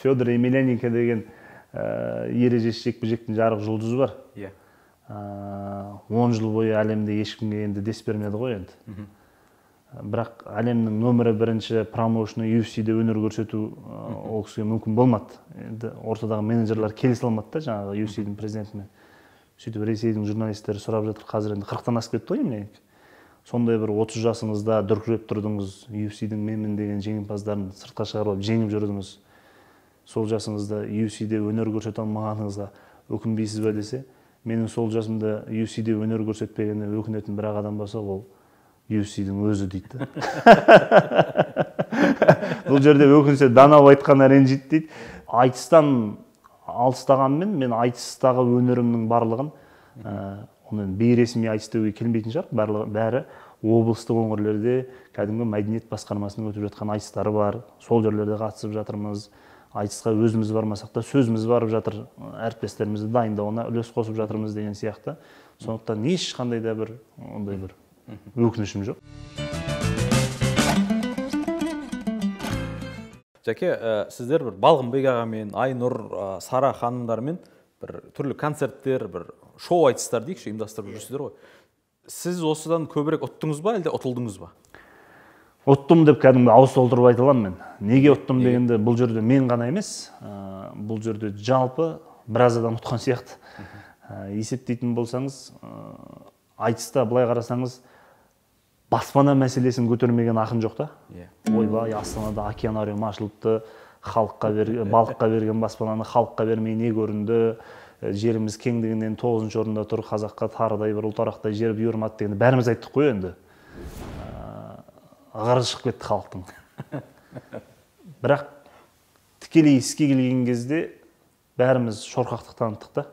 Федор Емельяненко деген ережесіз жекпе-жектің жарық жұлдызы бар. 10 жыл бойы әлемде ешкімге енді дес бермеді ғой енді. Бірақ әлемнің нөмірі бірінші промоушны UFC-де өнер көрсету ол кісіге мүмкін болмады. Енді ортадағы менеджерлер келісе алмады да жаңағы UFC-дің президентімен. Сөйтіп Ресейдің журналистері сұрап жатыр, қазір енді 40-тан асып кетті ғой Емельяненко. Сондай бір 30 жасыңызда дүркіреп тұрдыңыз, UFC-дің менмін деген жеңімпаздарын сыртқа шығарып жеңіп жүрдіңіз. Сол жасыңызда UFC-де өнер көрсете алмағаныңызға өкінбейсіз бе десе, менің сол жасымда UFC-де өнер көрсетпегеніне өкінетін бір адам болса, ол UFC-дің өзі дейді. Бұл жерде өкінсе данау айтқаны ренжиді дейді. Айтыстан алыстағанмен мен айтыстағы өнерімнің барлығын оны бейресми айтыс деуге келмейтін шығар. Бәрі облыстық өңірлерде кәдімгі мәдениет басқармасының өтіп жатқан айтыстары бар. Сол жерлерде қатысып жатырмыз. Айтысқа өзіміз бармасақ та сөзіміз барып жатыр. Әріптестерімізді дайындауына үлес қосып жатырмыз деген сияқты. Сондықтан ешқандай да бір ондай бір өкінішім жоқ. Жәке, сіздер бір Балғынбек ағамен, Айнұр, Сара ханымдармен бір түрлі концерттер, бір шоу айтыстар дейікші ұйымдастырып жүрсіздер ғой. Сіз осыдан көбірек ұттыңыз ба, әлде ұтылдыңыз ба? Ұттым деп кәдімгі ауыз толтырып айта аламын мен. Неге ұттым дегенде бұл жерде мен ғана емес, бұл жерде жалпы біраз адам ұтқан сияқты. Есептейтін болсаңыз, айтыста былай қарасаңыз, баспана мәселесін көтермеген ақын жоқ та. Ойбай, Астанада океанариум ашылыпты, балыққа берген баспананы халыққа бермей не көрінді, жеріміз кеңдігінен 9-шы орында тұр, қазаққа тарыдай бір ұлтарақтай жер бұйырмады дегенді бәріміз айттық қой енді. Ағары шығып кетті халықтың. Бірақ тікелей іске келген кезде бәріміз шорқақтық таныттық та.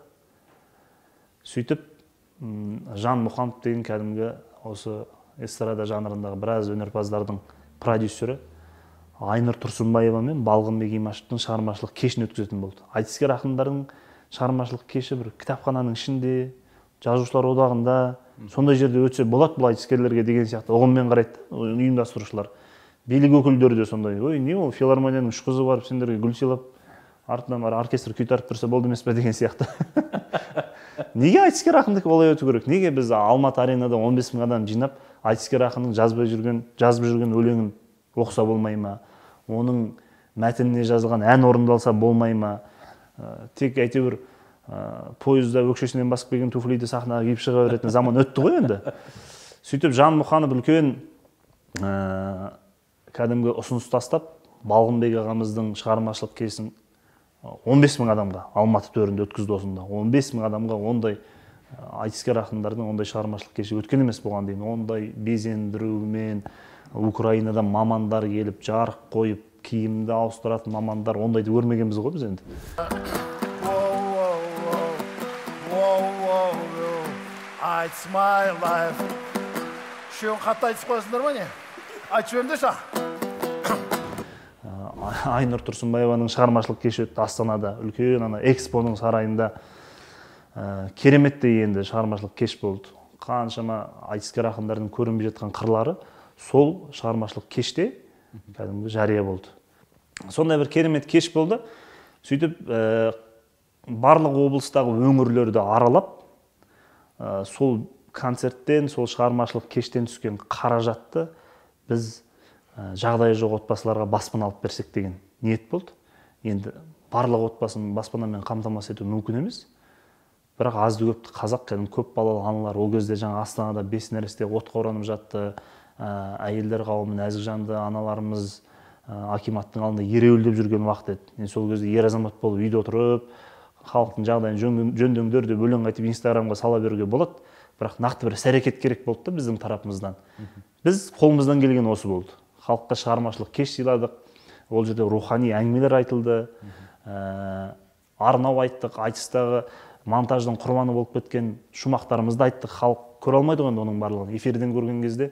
Сөйтіп, Жан Мұханов деген кәдімгі осы эстрада жанрындағы біраз өнерпаздардың продюсері Айнұр Тұрсынбаева мен Балғынбек Имашевтің шығармашылық кешін өткізетін болды. Айтыскер ақындардың шығармашылық кеші бір кітапхананың ішінде, жазушылар одағында, сондай жерде өтсе болады бұл айтыскерлерге деген сияқты ұғыммен қарайды ұйымдастырушылар. Билік өкілдері де сондай. Ой, не ол филармонияның үш қызы барып сендерге гүл сыйлап, артынан бар оркестр күй тартып тұрса болды емес пе деген сияқты. Неге айтыскер ақындікі олай өту керек? Неге біз Алматы аренада 15 000 адам жинап, айтыскер ақынның жазып жүрген өлеңін оқыса болмай ма? Оның мәтініне жазылған ән орындалса болмай ма? Тек әйтеуір пойызда өкшесінен басып келген туфлиді сахнаға киіп шыға беретін заман өтті ғой енді. Сөйтіп Жан Мұханов үлкен кәдімгі ұсыныс тастап, Балғынбек ағамыздың шығармашылық кешін 15 000 адамға Алматы төрінде өткізді осында. 15 000 адамға ондай айтыскер ақындардың ондай шығармашылық кеші өткен емес болған деймін. Ондай безендірумен Украинадан мамандар келіп, жарық қойып, киімді ауыстыратын мамандар, ондайды көрмегенбіз ғой біз енді. It's my life. Шеуін қатты айтып қойсыңдар ма не? Айтып жөнді ша? Айнұр Тұрсынбаеваның шығармашылық кеші өтті Астанада, үлкен экспоның сарайында. Кереметтей енді шығармашылық кеш болды. Қаншама айтыскер ақындардың көрінбей жатқан қырлары сол шығармашылық кеште кәдімгі жария болды. Сондай бір керемет кеш болды. Сөйтіп барлық облыстағы өңірлерді аралап, сол концерттен, сол шығармашылық кештен түскен қаражатты біз жағдайы жоқ отбасыларға баспана алып берсек деген ниет болды. Енді барлық отбасын баспанамен қамтамасыз ету мүмкін емес. Бірақ азды көпті қазақ кәдімгі көп балалы аналар ол кезде жаңа Астанада 5 нәресте отқа оранып жатты. Әйелдер қауымы нәзік жанды аналарымыз акиматтың алдында ереуілдеп жүрген уақыт еді. Мен сол кезде ер азамат болып үйде отырып, халықтың жағдайын жөндеңдер деп өлең айтып Инстаграмға сала беруге болады. Бірақ нақты бір іс-әрекет керек болды да біздің тарапымыздан. Біз қолымыздан келген осы болды. Халыққа шығармашылық кеш сыйладық. Ол жерде рухани әңгімелер айтылды. Арнау айттық, айтыстағы монтаждың құрбаны болып кеткен шумақтарымызды айттық. Халық көре алмайды ғой оның барлығын. Эфирден көрген кезде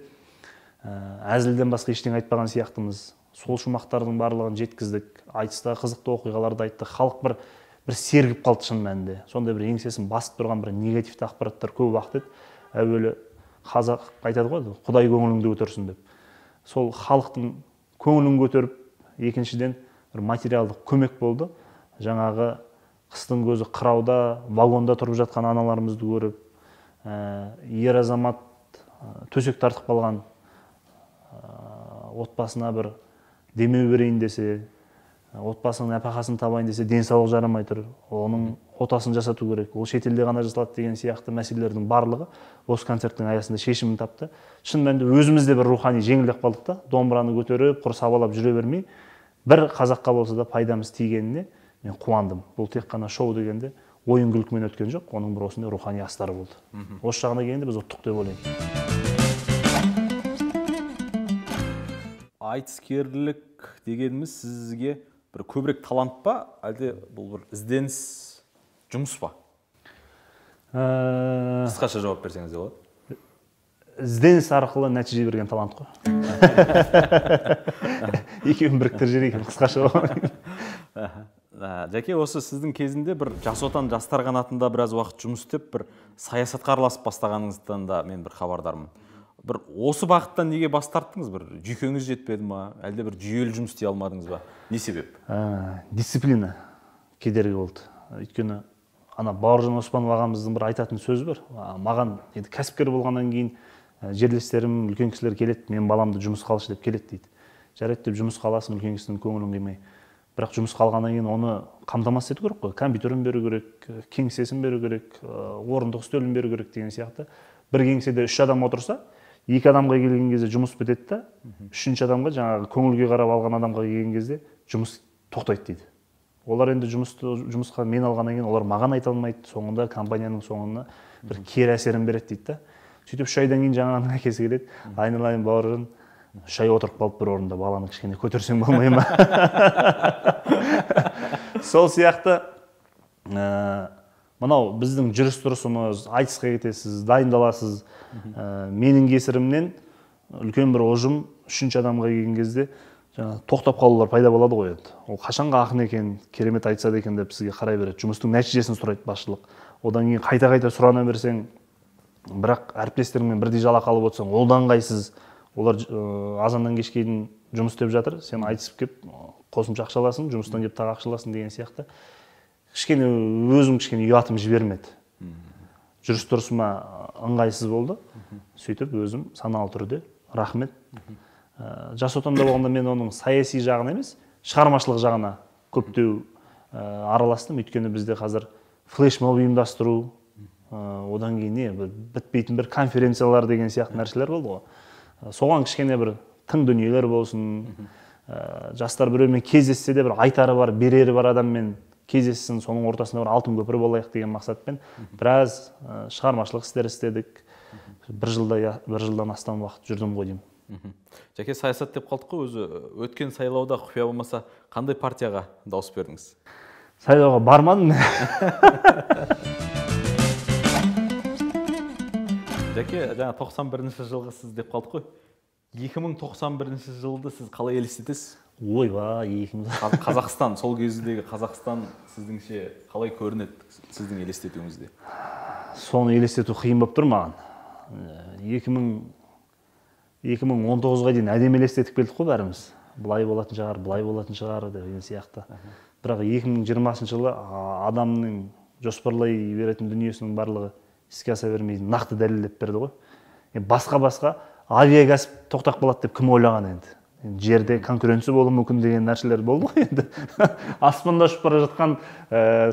әзілден басқа ештеңе айтпаған сияқтымыз. Сол шумақтардың барлығын жеткіздік. Айтыстағы қызықты оқиғаларды айттық. Халық бір сергіп қалды шын мәнінде. Сондай бір еңсесін басып тұрған бір негативті ақпараттар көп уақыт еді. Әуелі қазақ айтады ғой, Құдай көңіліңді көтерсін деп. Сол халықтың көңілін көтеріп, екіншіден бір материалдық көмек болды. Жаңағы қыстың көзі қырауда, вагонда тұрып жатқан аналарымызды көріп, ер азамат төсек тартып қалған отбасына бір демеу берейін десе, отбасының нәпақасын табайын десе, денсаулық жарамай тұр, оның отасын жасату керек, ол шетелде ғана жасалады деген сияқты мәселелердің барлығы осы концерттің аясында шешімін тапты. Шын мәнінде өзімізде бір рухани жеңілдеп қалдық та, домбыраны көтеріп, құр сабалап жүре бермей, бір қазаққа болса да пайдамыз тигеніне мен қуандым. Бұл тек қана шоу дегенде ойын күлкімен өткен жоқ, оның бір осындай рухани астары болды. Осы жағына келгенде біз ұттық деп ойлаймын. Айтыскерлік дегеніміз сізге бір көбірек талант па, әлде бұл бір ізденіс, жұмыс па? Қысқаша жауап берсеңіз де болады. Ізденіс арқылы нәтиже берген талант қой. Екеуін біріктіріп жіберейін, қысқаша жауап. Жәке, осы сіздің кезінде бір Жас Отан жастар қанатында біраз уақыт жұмыс істеп, бір саясатқа араласып бастағаныңыздан да мен бір хабардармын. Бір осы бағыттан неге бас тарттыңыз? Бір жүйкеңіз жетпеді ма? Әлде бір жүйелі жұмыс істей алмадыңыз ба? Не себеп? Дисциплина кедергі болды. Өйткені Бауыржан Оспанов ағамыздың бір айтатын сөзі бар. Маған кәсіпкер болғаннан кейін жерлестерім, үлкен кісілер келеді, мен баламды жұмысқа алшы деп келеді дейді. Жарайды деп жұмысқа аласың, үлкен кісінің көңілін қимай. Бірақ жұмысқа алғаннан кейін оны қамтамасыз ету керек қой. Компьютерін беру керек, кеңсесін беру керек, орындық үстелін беру керек деген сияқты. Бір кеңседе 3 адам отырса, 2 адамға келген кезде жұмыс бітеді да, 3-ші адамға жаңағы көңілге қарап алған адамға келген кезде жұмыс тоқтайды дейді. Олар енді жұмысқа мен алғаннан кейін олар маған айта алмайды, соңында компанияның соңына бір кері әсерін береді дейді да. Сөйтіп 3 айдан кейін жаңағының әкесі келеді, айналайын Бауыржан, үш ай отырып қалып бір орында баланы кішкене көтерсең болмай ма? Сол сияқты мынау біздің жүріс тұрысымыз, айтысқа кетесіз, дайындаласыз. Менің кесірімнен үлкен бір ұжым үшінші адамға келген кезде тоқтап қалулар пайда болады ғой енді. Ол қашанға ақын екен, керемет айтсады екен деп сізге қарай береді. Жұмыстың нәтижесін сұрайды басшылық. Одан кейін қайта сұрана берсең, бірақ әріптестеріңмен бірдей жалақы алып отырсаң, одан қайсыз. Олар азаннан кешке дейін жұмыс істеп жатыр, сен айтысып кеп қосымша ақша аласың, жұмыстан кеп тағы ақша аласың деген сияқты. Өзім кішкене ұятым жібермеді. Жүріс тұрысыма ыңғайсыз болды. Сөйтіп өзім саналы түрде рахмет. Жас отанда болғанда мен оның саяси жағына емес, шығармашылық жағына көптеу араластым. Өйткені бізде қазір флешмоб ұйымдастыру, одан кейін бітпейтін бір конференциялар деген сияқты нәрселер болды ғой. Соған кішкене бір тың дүниелер болсын, жастар біреумен кездессе де бір айтары бар, берері бар адаммен кездессін, соның ортасында бір алтын көпір болайық деген мақсатпен біраз шығармашылық істер істедік. Бір жылдан астам уақыт жүрдім ғой деймін. Жәке, саясат деп қалдық қой, өзі өткен сайлауда құпия болмаса қандай партияға дауыс бердіңіз? Сайлауға бармадым. Жәке, жаңа 91-ші жылғы сіз деп қалдық қой. 2091 жылды сіз қалай елестетесіз? Ойба, Қазақстан, сол кездегі Қазақстан сіздіңше қалай көрінеді сіздің елестетуіңізде? Соны елестету қиын болып тұр маған. 2019-ға дейін әдемі елестетіп келдік қой бәріміз. Бұлай болатын шығар деген сияқты. Бірақ 2020 жылы адамның жоспарлай беретін дүниесінің барлығы іске аса бермейді, нақты дәлелдеп берді ғой. Басқа авиакәсіп тоқтап қалады деп кім ойлаған енді? Жерде конкуренция болуы мүмкін деген нәрселер болды ғой енді. Аспанда ұшып бара жатқан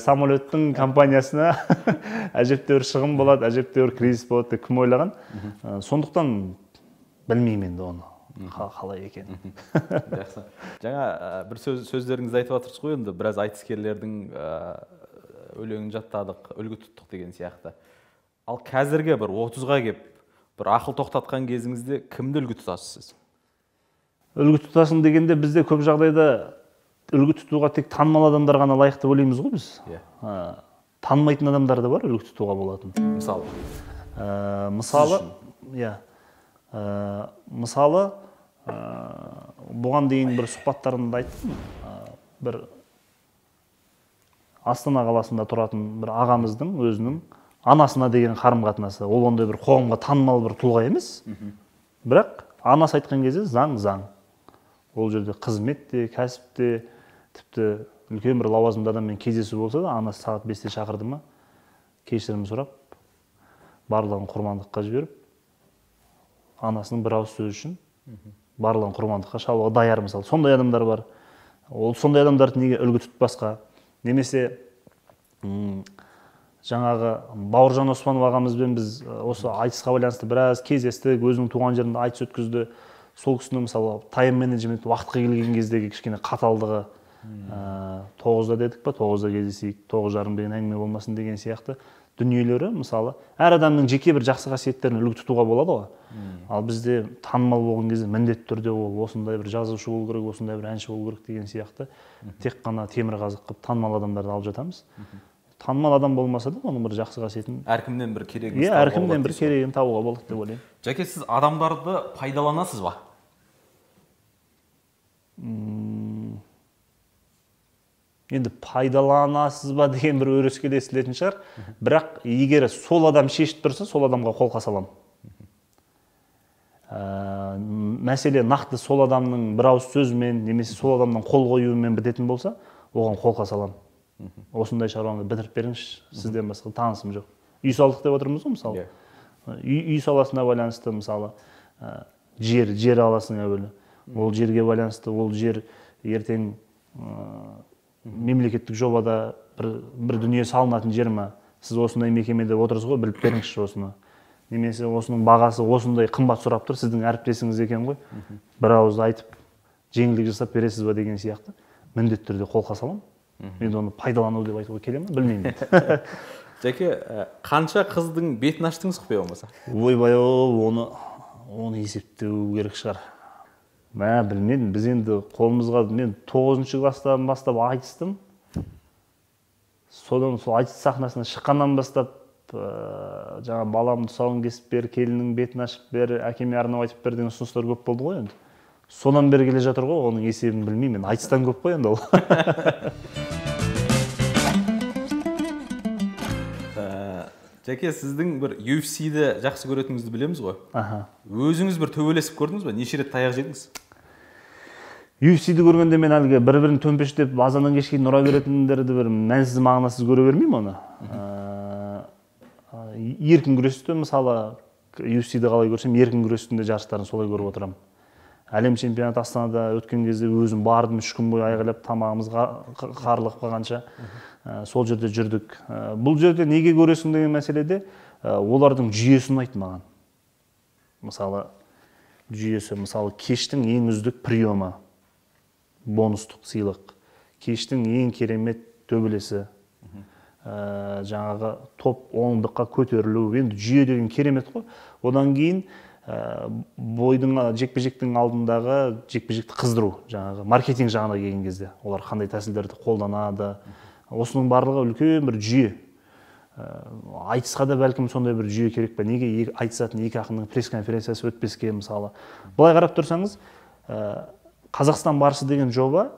самолеттің компаниясына әжептәуір шығын болады, әжептәуір кризис болады деп кім ойлаған? Сондықтан білмеймін енді оны қалай екенін. Жақсы. Жаңа бір сөздеріңізді айтып жатырсыз ғой енді, біраз айтыскерлердің өлеңін жаттадық, үлгі тұттық деген сияқты. Ал қазірге бір 30-ға кеп, бір ақыл тоқтатқан кезіңізде кімді үлгі тұтасыз сіз? Үлгі тұтасың дегенде бізде көп жағдайда үлгі тұтуға тек танымал адамдар ғана лайықты ойлаймыз ғой біз. Танымайтын адамдар да бар үлгі тұтуға болатын. Мысалы, бұған дейін бір сұхбаттарымда айттым. Бір Астана қаласында тұратын бір ағамыздың өзінің анасына деген қарым-қатынасы. Ол ондай бір қоғамға танымал бір тұлға емес. Бірақ анасы айтқан кезде заң. Ол жерде қызмет те, кәсіп те, тіпті үлкен бір лауазымды адаммен кездесу болса да, анасы сағат 5-те шақырды ма, кешірім сұрап, барлығын құрбандыққа жіберіп, анасының бір ауыз сөзі үшін барлығын құрбандыққа шалуға даяр мысалы. Сондай адамдар бар. Ол сондай адамдарды неге үлгі тұтпасқа? Немесе жаңағы Бауыржан Оспанов ағамызбен біз осы айтысқа байланысты біраз кездестік, өзінің туған жерінде айтыс өткізді. Сол кісінің мысалы тайм-менеджмент уақытқа келген кездегі кішкене қаталдығы, 9-да дедік па, 9-да кездесейік, 9:30 деген әңгіме болмасын деген сияқты дүниелері мысалы әр адамның жеке бір жақсы қасиеттерін үлгі тұтуға болады ғой. Ал бізде танымал болған кезде міндетті түрде ол осындай бір жазушы болу керек, осындай бір әнші болу керек деген сияқты тек қана темірқазық қылып танымал адамдарды алып жатамыз. Танымал адам болмаса да, оның бір жақсы қасиетін әркімнен бір керегін табуға болады деп ойлаймын. Жәке, сіз адамдарды пайдаланасыз ба? Енді пайдаланасыз ба деген бір өрескел естілетін шығар. Бірақ егер сол адам шешіп тұрса, сол адамға қолқа саламын. Мәселе нақты сол адамның бір ауыз сөзімен, немесе сол адамның қол қоюымен бітетін болса, оған қолқа саламын. Осындай шаруаны бітіріп беріңізші, сізден басқа танысым жоқ. Үй салдық деп отырмыз ғой мысалы. Үй саласына байланысты мысалы жер аласың әуелі. Ол жерге байланысты, ол жер ертең мемлекеттік жобада бір дүние салынатын жер ма? Сіз осындай мекемеде отырсыз ғой, біліп беріңізші осыны. Немесе осының бағасы осындай қымбат сұрап тұр, сіздің әріптесіңіз екен ғой. Бір ауыз айтып, жеңілдік жасап бересіз ба деген сияқты. Міндетті түрде қолқа саламын. Мен оны пайдалану деп айтуға келе ме? Білмеймін. Жәке, қанша қыздың бетін аштыңыз құпия болмаса? Ойбай, оны есептеу керек шығар. Білмедім, біз енді қолымызға, мен 9-шы класстан бастап айтыстым. Содан сол айтыс сахнасына шыққаннан бастап жаңа баламды тұсауын кесіп бер, келіннің бетін ашып бер, әкеме арнап айтып бер деген ұсыныстар көп болды ғой енді. Содан бері келе жатыр ғой, оның есебін білмеймін. Айтыстан көп қой енді ол. Жәке, сіздің бір UFC-ді жақсы көретініңізді білеміз ғой. Өзіңіз бір төбелесіп көрдіңіз бе? Неше рет таяқ жедіңіз? UFC-ді көргенде мен әлгі бір-бірін төмпештеп азаннан кешке дейін ұра беретіндерді бір мәнсіз мағынасыз көре бермеймін оны. Еркін күресті мысалы UFC-ді қалай көрсем, еркін күрестің жарыстарын солай көріп отырамын. Әлем чемпионаты Астанада өткен кезде өзім бардым, 3 күн бойы айғайлап, тамағымыз қарылып қалғанша сол жерде жүрдік. Бұл жерде неге көресің деген мәселеде олардың жүйесі ұнайды маған. Мысалы жүйесі, мысалы кештің ең үздік приемы, бонустық сыйлық, кештің ең керемет төбелесі, жаңағы топ оңдыққа көтерілу, енді жүйе деген керемет қой. Одан кейін бойдың жекпе-жектің алдындағы жекпе-жекті қыздыру, жаңағы маркетинг жағына келген кезде олар қандай тәсілдерді қолданады, осының барлығы үлкен бір жүйе. Айтысқа да бәлкім сондай бір жүйе керек пе? Неге айтысатын екі ақынның пресс-конференциясы өтпеске мысалы? Былай қарап тұрсаңыз, Қазақстан барысы деген жоба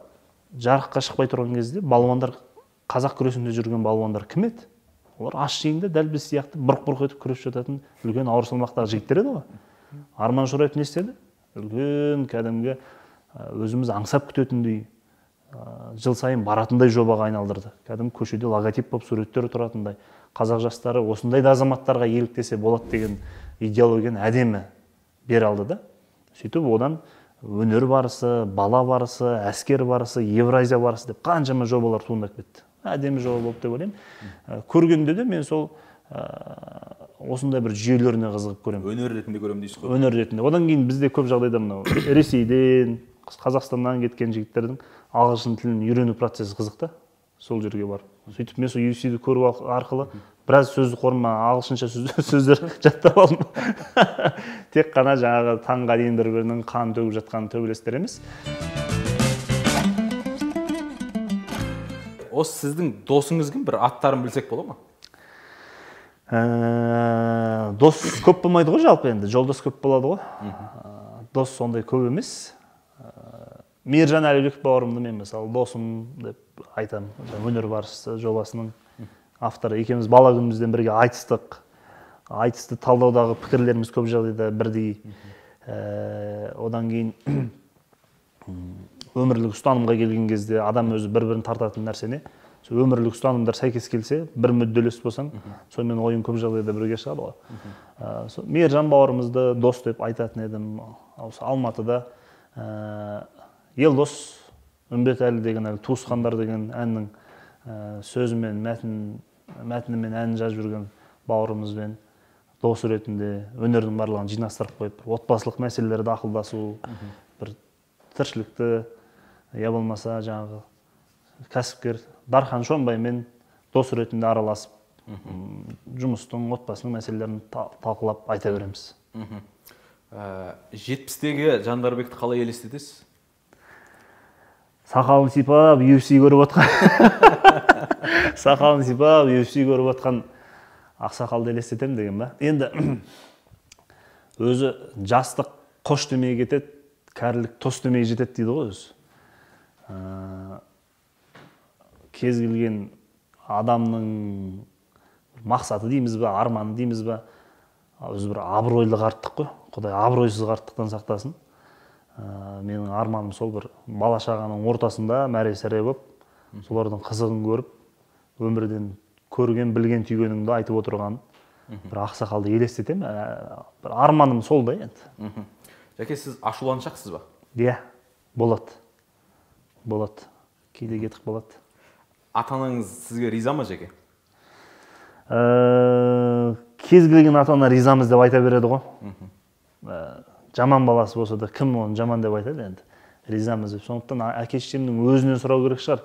жарыққа шықпай тұрған кезде балуандар, қазақ күресінде жүрген балуандар кім еді? Олар аш жеңді дәл біз сияқты бұрқ-бұрқ етіп күресіп жататын үлкен ауыр салмақтағы жігіттер еді ғой. Арман Шораев не істеді? Үлкен кәдімгі өзіміз аңсап күтетіндей, жыл сайын баратындай жобаға айналдырды. Кәдімгі көшеде логотип болып суреттер тұратындай. Қазақ жастары осындай да азаматтарға еліктесе болады деген идеологияны әдемі бере алды да. Сөйтіп одан өнер барысы, бала барысы, әскер барысы, Евразия барысы деп қаншама жобалар туындап кетті. Әдемі жоба болып деп ойлаймын. Көргенде де мен сол осындай бір жүйелеріне қызығып көремін. Өнер ретінде көремін дейсіз ғой. Өнер ретінде. Одан кейін бізде көп жағдайда мынау Ресейден, Қазақстаннан кеткен жігіттердің ағылшын тілін үйрену процесі қызық та. Сол жерге бар. Сөйтіп мен сол UFC-ді көру арқылы біраз сөздік қорыма ағылшынша сөздер жаттап алдым. Тек қана жаңағы таңға дейін бір-бірінің қан төгіп жатқан төбелестер емес. Осы сіздің досыңыз кім? Bir аттарын білсек бола ма? Дос көп болмайды ғой жалпы енді, жолдас көп болады ғой. Дос сондай көп емес. Мейіржан Әлібеков бауырымды мен мысалы досым деп айтамын. Өнер барысы жобасының авторы. Екеуміз бала күнімізден бірге айтыстық. Айтысты талдаудағы пікірлеріміз көп жағдайда бірдей. Одан кейін өмірлік ұстанымға келген кезде адам өзі бір-бірін тартатын нәрсене, өмірлік ұстанымдар сәйкес келсе, бір мүдделес болсаң, сонымен ойын көп жағдайда бірге шығады ғой. Мейіржан бауырымызды дос деп айтатын едім. Алматыда Елдос Үмбетәлі деген Туысқандар деген әннің сөзімен, мәтінімен әнін жазып жүрген бауырымызбен дос ретінде өнердің барлығын жинастырып қойып, отбасылық мәселелерді ақылдасу, бір тіршілікті, я болмаса жаңағы кәсіпкер Дархан Шонбаймен дос ретінде араласып, жұмыстың, отбасының мәселелерін талқылап айта береміз. 70-тегі Жандарбекті қалай елестетесіз? Сақалын сипап, UFC көріп отқан. Сақалын сипап, UFC көріп отқан ақсақалды елестетем деген ба? Енді өзі жастық қош демей кетеді, кәрілік тос демей жетеді дейді ғой өзі. Кез келген адамның мақсаты дейміз ба, арманы дейміз ба, өзі бір абыройлы қарттық қой. Құдай абыройсыз қарттықтан сақтасын. Менің арманым сол бір бала шағаның ортасында мәре-сәре болып, солардың қызығын көріп, өмірден көрген, білген түйгеніңді айтып отырған бір ақсақалды елестетем. Бір арманым сол да енді. Жәке, сіз ашуланшақсыз ба? Иә, болады. Болады. Кейде кетіп болады. Ата-анаңыз сізге риза ма, Жәке? Кез келген ата-ана ризамыз деп айта береді ғой. Жаман баласы болса да кім оны жаман деп айтады енді. Ризамыз деп. Сондықтан әке-шешемнің өзінен сұрау керек шығар.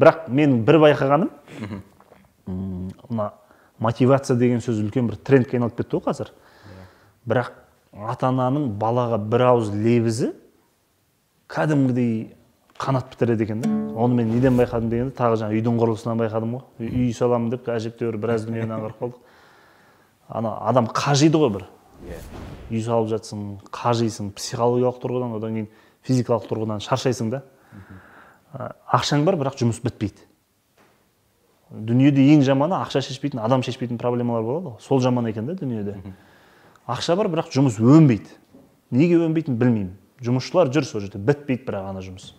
Бірақ мен бір байқағаным, мотивация деген сөз үлкен бір трендке айналып кетті ғой қазір. Бірақ ата-ананың балаға бір ауыз лебізі кәдімгідей қанат бітіреді екен да. Оны мен неден байқадым дегенде, тағы жаңа үйдің құрылысынан байқадым ғой. Үй саламын деп әжептәуір біраз дүниені аңғарып қалдық. Ана адам қажиды ғой бір. Үй салып жатсың, қажисың, психологиялық тұрғыдан, одан кейін физикалық тұрғыдан шаршайсың да. Ақшаң бар, бірақ жұмыс бітпейді. Дүниеде ең жаманы ақша шешпейтін, адам шешпейтін проблемалар болады. Сол жаман екен да дүниеде. Ақша бар, бірақ жұмыс өнбейді. Неге өнбейтінін білмеймін. Жұмысшылар жүр сол жерде, бітпейді бірақ ана жұмыс.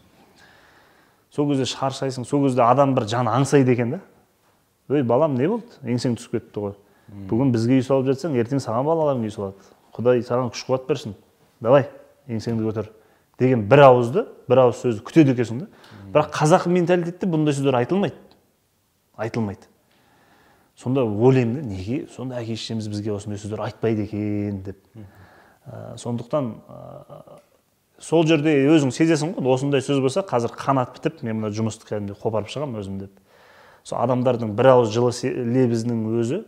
Сол кезде шаршайсың, сол кезде адам бір жаны аңсайды екен да. Ой, балам, не болды? Еңсең түсіп кетті ғой. Бүгін бізге үй салып жатсаң, ертең саған балаларың үй салады. Құдай саған күш қуат берсін. Давай, еңсеңді көтер. Деген бір ауыз сөзді күтеді екенсің да. Бірақ қазақы менталитетте бұндай сөздер айтылмайды. Сонда ойлаймын да, неге сонда әке-шешеміз бізге осындай сөздер айтпайды екен деп. Сондықтан сол жерде өзің сезесің ғой, осындай сөз болса, қазір қанат бітіп, мен мына жұмысты кәдімгідей қопарып шығамын өзім деп. Сол адамдардың бір ауыз жылы лебізінің өзі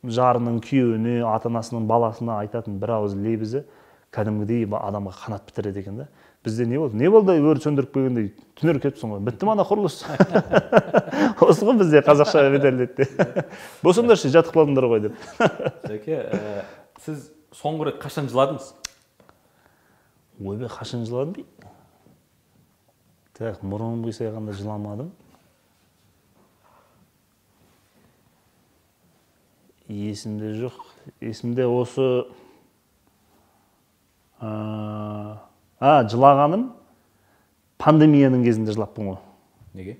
жарының күйеуіне, ата-анасының баласына айтатын бір ауыз лебізі кәдімгідей адамға қанат бітіреді екен да. Бізде не болды? Не болды? Өрт сөндіріп келгендей түнеріп кетіпсің ғой. Бітті ма ана құрылыс? Осы ғой бізде қазақша менталитетте. Болсаңдаршы, жатып қалдыңдар ғой деп. Жәке, сіз соңғы рет қашан жыладыңыз? Ойбай, қашан жыладым дейді. Так, мұрыным қисайғанда жыламадым. Есімде жоқ. Есімде осы жылағаным пандемияның кезінде жылаппын ғой. Неге?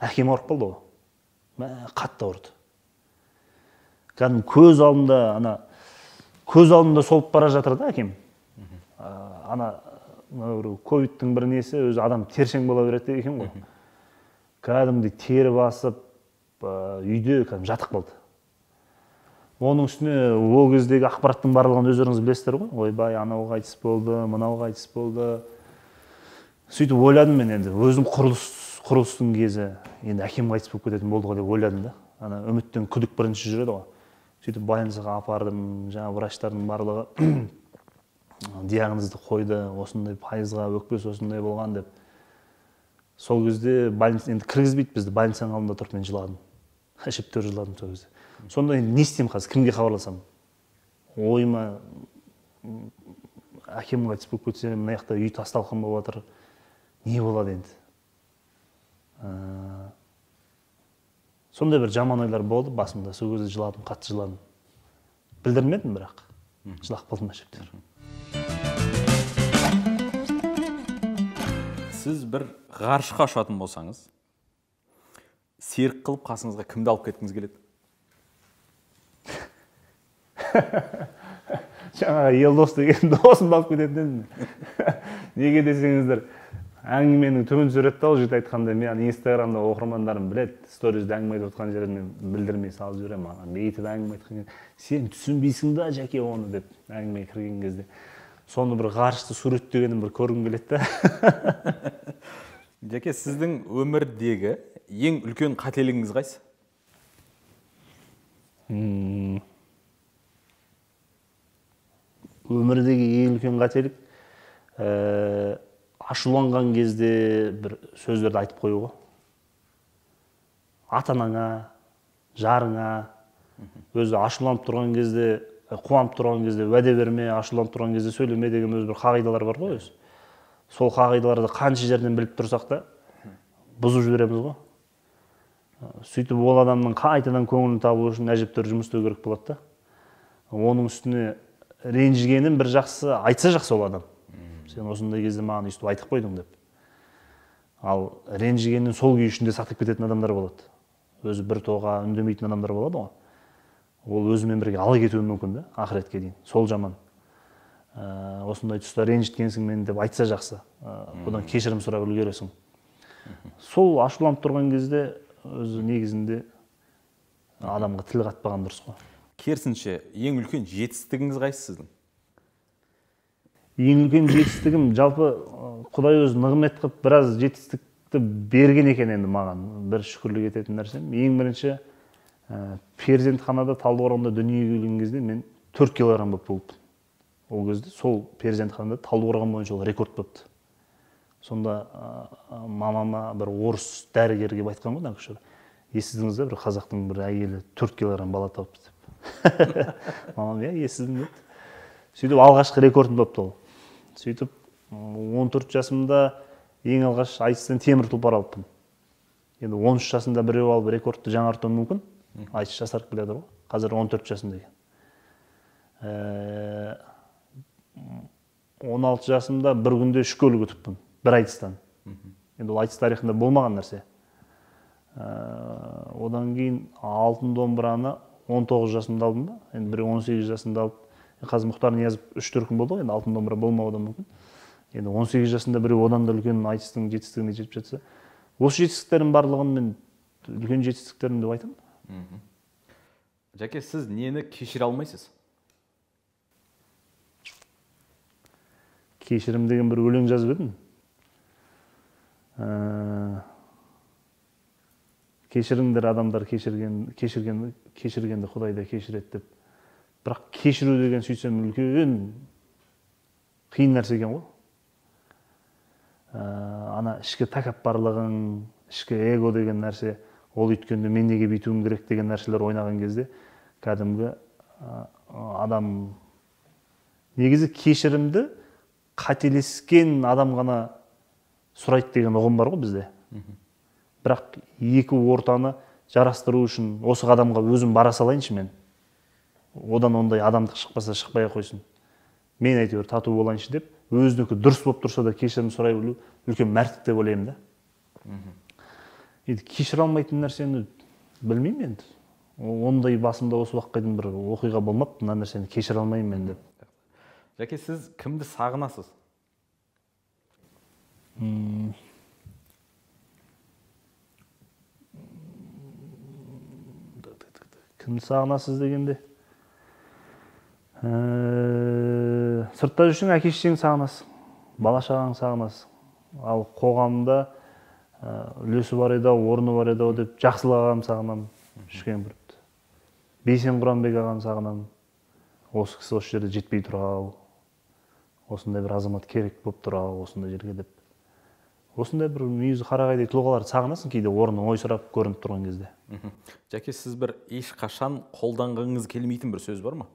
Әкем ауырып қалды ғой. Қатты ауырды. Кәдімгі көз алдымда солып бара жатыр да әкем. Ковидтің бір несі, өзі адам тершең бола береді екен ғой. Кәдімгідей тері басып, үйде жатып қалды. Оның үстіне ол кездегі ақпараттың барлығын өздеріңіз білесіздер ғой. Ойбай, анау қайтыс болды, мынау қайтыс болды. Сөйтіп ойладым мен енді, өзім құрылыстың кезі, енді әкем қайтыс болып кететін болды ғой деп ойладым да. Ана үміттен күдік бірінші жүреді ғой. Сөйтіп больницаға апардым, жаңа врачтардың барлығы диагнозды қойды, осындай пайызға өкпесі осындай болған деп. Сол кезде больница енді кіргізбейді бізді, больницаның алдында тұрып мен жыладым. Әжептәуір жыладым сол кезде. Сонда енді не істеймін қазір, кімге хабарласам? Ойыма әкем қайтыс болып кетсе, мына жақта үй тас-талқан болып жатыр. Не болады енді? Сондай бір жаман ойлар болды басымда. Сол кезде жыладым, қатты жыладым. Білдірмедім бірақ. Жылап қалдым әжептәуір. Сіз бір ғарышқа ұшатын болсаңыз, серік қылып қасыңызға кімді алып кеткіңіз келеді? Жаңағы Елдос деген досымды алып кететін. Неге десеңіздер, әңгіменің түбін суретті ал жүйті айтқанда, мен инстаграмда оқырмандарым біледі, сторизде әңгіме айтып отқан жерін мен білдірмей салып жүремін. Маған бейтіп әңгіме айтқан кезде, сен түсінбейсің да Жәке оны деп әңгіме кірген кезде. Соны бір ғарышты суреттегенім бір көргім келеді да. Жәке, сіздің өмірдегі ең үлкен қателігіңіз қайсы? Өмірдегі ең үлкен қателік ашуланған кезде бір сөздерді айтып қоюға. Ата-анаңа, жарыңа, өзі ашуланып тұрған кезде, қуанып тұрған кезде уәде берме, ашуланып тұрған кезде сөйлеме деген өзі бір қағидалар бар ғой өзі. Сол қағидаларды қанша жерден біліп тұрсақ та бұзып жібереміз ғой. Сөйтіп ол адамның қайтадан көңілін табу үшін әжептәуір жұмыс істеу керек болады да. Оның үстіне ренжігенін бір жақсы айтса жақсы ол адам. Сен осындай кезде маған өйстіп айтып қойдың деп. Ал ренжігенін сол күй ішінде сақтап кететін адамдар болады. Өзі бір тоға үндемейтін адамдар болады ғой. Ол өзімен бірге ала кетуі мүмкін да, ақыретке дейін. Сол жаман. Осындай тұста ренжіткенсің мен деп айтса жақсы. Бұдан кешірім сұрап үлгересің. Сол ашуланып тұрған кезде өзі негізінде адамға тіл қатпаған дұрыс қой. Керісінше, ең үлкен жетістігіңіз қайсы сіздің? Ең үлкен жетістігім, жалпы Құдай өзі нығмет қылып біраз жетістікті берген екен енді маған. Бір шүкірлік ететін нәрсем. Ең бірінші перзентханада Талдықорғанда дүниеге келген кезде мен 4 килограмм болып болыппын. ол кезде сол перзентханада Талдықорған бойынша ол рекорд болыпты. Сонда мамама бір орыс дәрігер келіп айтқан ғой, нағыз естідіңіз бе, бір қазақтың бір әйелі 4 килограмм бала тауыпты деп. Мамам, естідім деді. Сөйтіп алғашқы рекордым болыпты ол. Сөйтіп 14 жасымда ең алғаш айтыстан темір тұлпар алыппын. Енді 13 жасында біреу алып рекордты жаңартуы мүмкін. Айтыс жасарып келеді ғой. Қазір 14 жасында екен. 16 жасымда бір күнде 3 көлік ұтыппын. Бір айтыстан. Енді ол айтыс тарихында болмаған нәрсе. Одан кейін алтын домбыраны 19 жасымда алдым ба? Енді бір 18 жасында алып, қазір Мұхтар Ниязов 3 күн болды ғой, енді алтын домбыра болмауы да мүмкін. Енді 18 жасында біреу одан да үлкен айтыстың жетістігіне жетіп жатса, осы жетістіктердің барлығын мен үлкен жетістіктерім деп айтамын. Жәке, сіз нені кешіре алмайсыз? Кешірім деген бір өлең жазып едім. Кешіріңдер адамдар, кешіргенді Құдай да кешіреді деп. Бірақ кешіру деген сөйтсем үлкен қиын нәрсе екен ғой. Ана ішкі тәкаппарлығың, ішкі эго деген нәрсе, ол өйткенде мен неге бүйтуім керек деген нәрселер ойнаған кезде кәдімгі адам негізі кешірімді қателескен адам ғана сұрайды деген ұғым бар ғой бізде. Бірақ екі ортаны жарастыру үшін осы адамға өзім бара салайыншы мен. Одан ондай адамдық шықпаса шықпай қойсын. Мен әйтеуір тату болайыншы деп, өзінікі дұрыс болып тұрса да кешірім сұрай білу үлкен мәрттік деп ойлаймын да. Енді кешіре алмайтын нәрсені білмеймін енді. Ондай басымда осы уақытқа дейін бір оқиға болмапты, мына нәрсені кешіре алмаймын мен деп. Жәке, сіз кімді сағынасыз? Кімді сағынасыз дегенде? Сыртта жүрсең әке-шешең сағынасың, бала-шағаң сағынасың. Ал қоғамда үлесі бар еді, орны бар еді деп жақсылық ағам сағынамын. Шүкен бір. Бейсен Құранбек ағам сағынамын. Осы кісі осы жерде жетпей тұрау. Осындай бір азамат керек болып тұрау, осындай жерге деп. Осындай бір мүйізі қарағайдай тұлғаларды сағынасың кейде орны ойсырап көрініп тұрған кезде. Жәке, сіз бір ешқашан қолданғыңыз келмейтін бір сөз бар ма?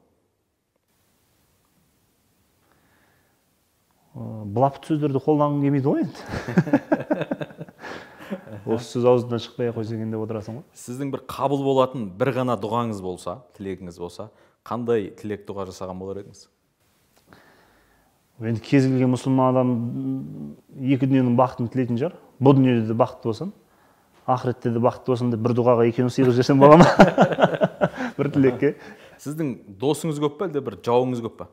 Былапыт сөздерді қолданғың келмейді ғой енді. Осы сөз аузынан шықпай қойса екен деп отырасың ғой. Сіздің бір қабыл болатын бір ғана дұғаңыз болса, тілегіңіз болса, қандай тілек дұға жасаған болар едіңіз? Енді кез келген мұсылман адам екі дүниенің бақытын тілейтін шығар. Бұл дүниеде де бақытты болсын, ақыретте де бақытты болсын деп бір дұғаға екеуін сыйғыз жіберсем бола ма? Бір тілекке. Сіздің досыңыз көп па, әлде бір жауыңыз көп па?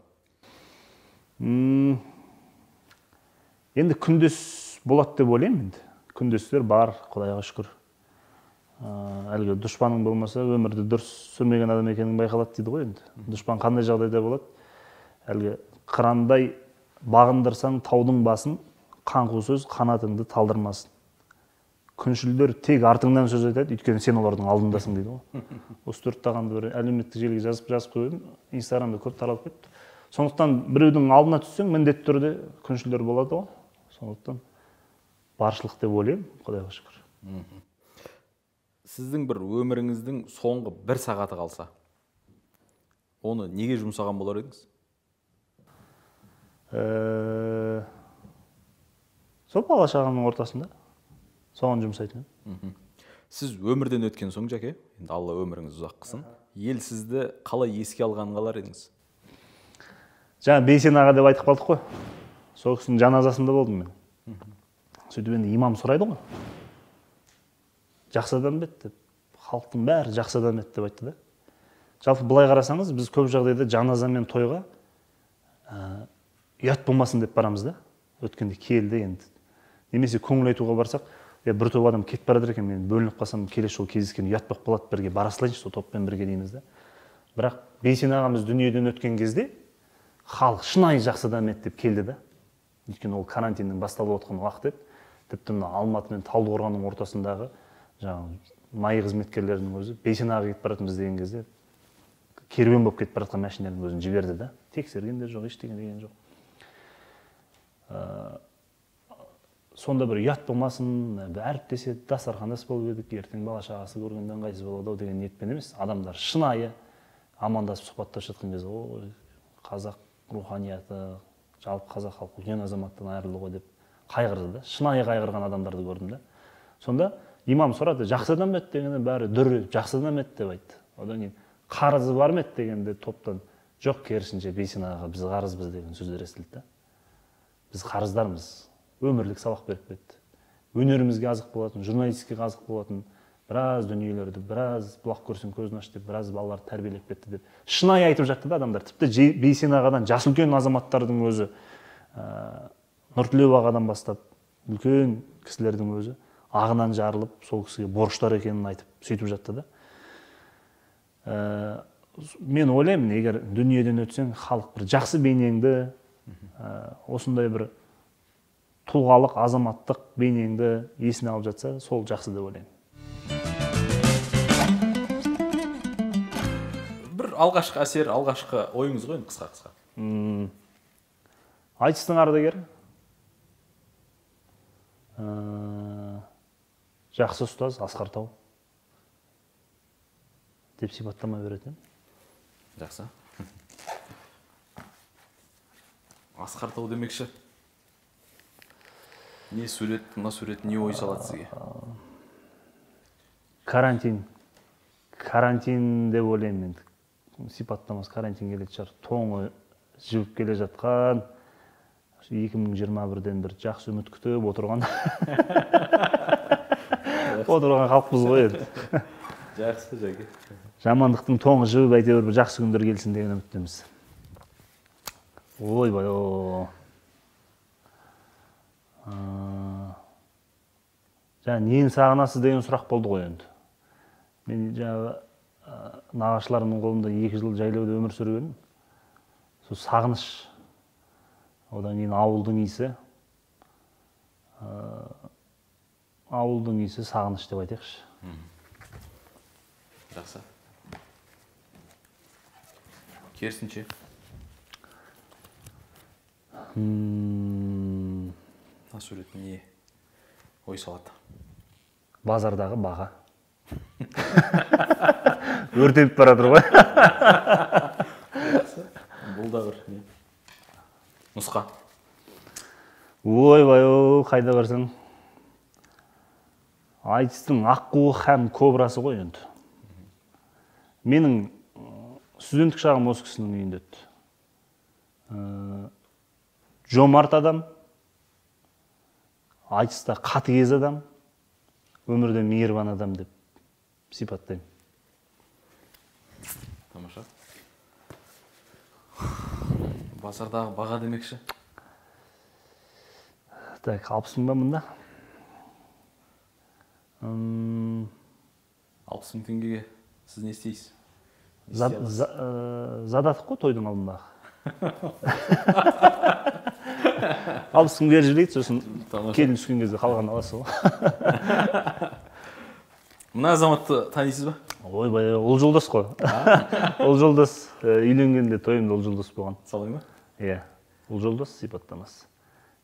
Енді күндес болады деп ойлаймын енді. Күндестер бар, Құдайға шүкір. Әлгі дұшпаның болмаса, өмірді дұрыс сүрмеген адам екенін байқалады дейді ғой енді. Дұшпан қандай жағдайда болады? Әлгі қырандай бағындырсаң таудың басын, қаңқу сөз қанатыңды талдырмасын. Күншілдер тек артыңнан сөз айтады, өйткені сен олардың алдындасың дейді ғой. Осы 4 тағанды бір әлеуметтік желіге жазып қойдым, Инстаграмда көп таралып кетті. Сондықтан біреудің алдына түссең, міндетті түрде күншілдер болады ғой. Сондықтан баршылық деп ойлаймын, Құдайға шүкір. Сіздің бір өміріңіздің соңғы 1 сағаты қалса, оны неге жұмсаған болар едіңіз? Сол бала-шағаның ортасында соған жұмсайтын. Сіз өмірден өткен соң, Жәке, енді Алла өміріңіз ұзақ қылсын, ел сізді қалай еске алғанын қалар едіңіз? Жаңа Бейсен аға деп айтып қалдық қой. Сол кісінің жаназасында болдым мен. Сөйтіп енді имам сұрайды ғой. Жақсы адам бет деп, халықтың бәрі жақсы адам еді деп айтты да. Жалпы былай қарасаңыз, біз көп жағдайда жаназа мен тойға ұят болмасын деп барамыз да. Өткенде келді енді. Немесе көңіл айтуға барсақ, бір топ адам кетіп барады екен, мен бөлініп қалсам, келесі жолы кездескен ұят болып қалады, бірге бара салайыншы, сол топпен бірге дейміз да. Бірақ Бейсен ағамыз дүниеден өткен кезде халық шынайы жақсы адам еді деп келді да. Өйткені ол карантиннің басталып отқан уақыт еді. Тіпті мына Алматы мен Талдықорғанның ортасындағы жаңағы май қызметкерлерінің өзі Бейсен аға кетіп баратырмыз деген кезде керуен болып кетіп бара жатқан машинаның өзін жіберді да. Тексерген де жоқ, ештеңе деген жоқ. Сонда бір ұят болмасын, әріптеседі, дастархандас болып едік, ертең бала шағасы көргенде ыңғайсыз болады ау деген ниетпен емес, адамдар шынайы амандасып сұхбаттасып жатқан кезде, ой, қазақ руханияты, жалпы қазақ халқы үлкен азаматтан айырылды ғой деп қайғырды да, шынайы қайғырған адамдарды көрдім да. Сонда имам сұрады, жақсы адам еді дегенде бәрі дүр жақсы адам еді деп айтты. Одан кейін қарызы бар ма еді дегенде топтан жоқ, керісінше Бейсен ағаға біз қарызбыз деген сөздер естілді да. Біз қарыздармыз, өмірлік сабақ беріп кетті. Өнерімізге азық болатын, журналистикаға азық болатын, біраз дүниелерді, біраз бұлақ көрсең көзін аш деп, біраз балаларды тәрбиелеп кетті деп. Шынайы айтып жатты да адамдар. Тіпті Бейсен ағадан жасы үлкен азаматтардың өзі, Нұртілеу ағадан бастап, үлкен кісілердің өзі ағынан жарылып, сол кісіге борыштар екенін айтып, сөйтіп жатты да. Мен ойлаймын, егер дүниеден өтсең, халық бір жақсы бейнеңді, осындай бір тұлғалық, азаматтық бейнеңді есіне алып жатса, сол жақсы деп ойлаймын. Бір алғашқы әсер, алғашқы ойыңыз ғой, қысқа-қысқа. Айтыстың ардагері. Жақсы ұстаз, Асқар Тау деп сипаттама беретін. Жақсы. Асқар Тау демекші. Не сурет, мына сурет не ой салады сізге? Карантин деп ойлаймын енді. Сипаттамасы карантин келетін шығар. Тоңы жібіп келе жатқан, 2021-ден бір жақсы үміт күтіп отырған халықпыз ғой енді. Жақсы, жәке. Жамандықтың тоңы жібіп әйтеуір бір жақсы күндер келсін деген үміттеміз. Ойбай, жаңа нені сағынасыз деген сұрақ болды ғой енді. Мен жаңа нағашыларымның қолында 2 жыл жайлауда өмір сүргенмін. Сол сағыныш, одан кейін ауылдың иісі, сағыныш деп айтайықшы. Жақсы. Керісінше? Мына сурет не ой салады? Базардағы баға. Өртеніп баратыр ғой. Бұл да бір нұсқа. Ойбай, қайда барсаң? Айтыстың аққуы һәм кобрасы ғой енді. Менің студенттік шағым осы кісінің үйінде өтті. Жомарт адам, айтыста қатыгез адам, өмірде мейірбан адам деп сипаттаймын. Тамаша. Базардағы баға демекші? Так, 60 ба мұнда? 60 000 теңгеге сіз не істейсіз? Задатық қой тойдың алдындағы. 60 000 беріп жіберейік, сосын келін түскен кезде қалған аласыз ғой. Мына азаматты танисыз ба? Ойбай, ол жолдас қой. Ол жолдас үйленгенде тойымда ол жолдас болған. Солай ма? Иә, ол жолдас сипаттамасы.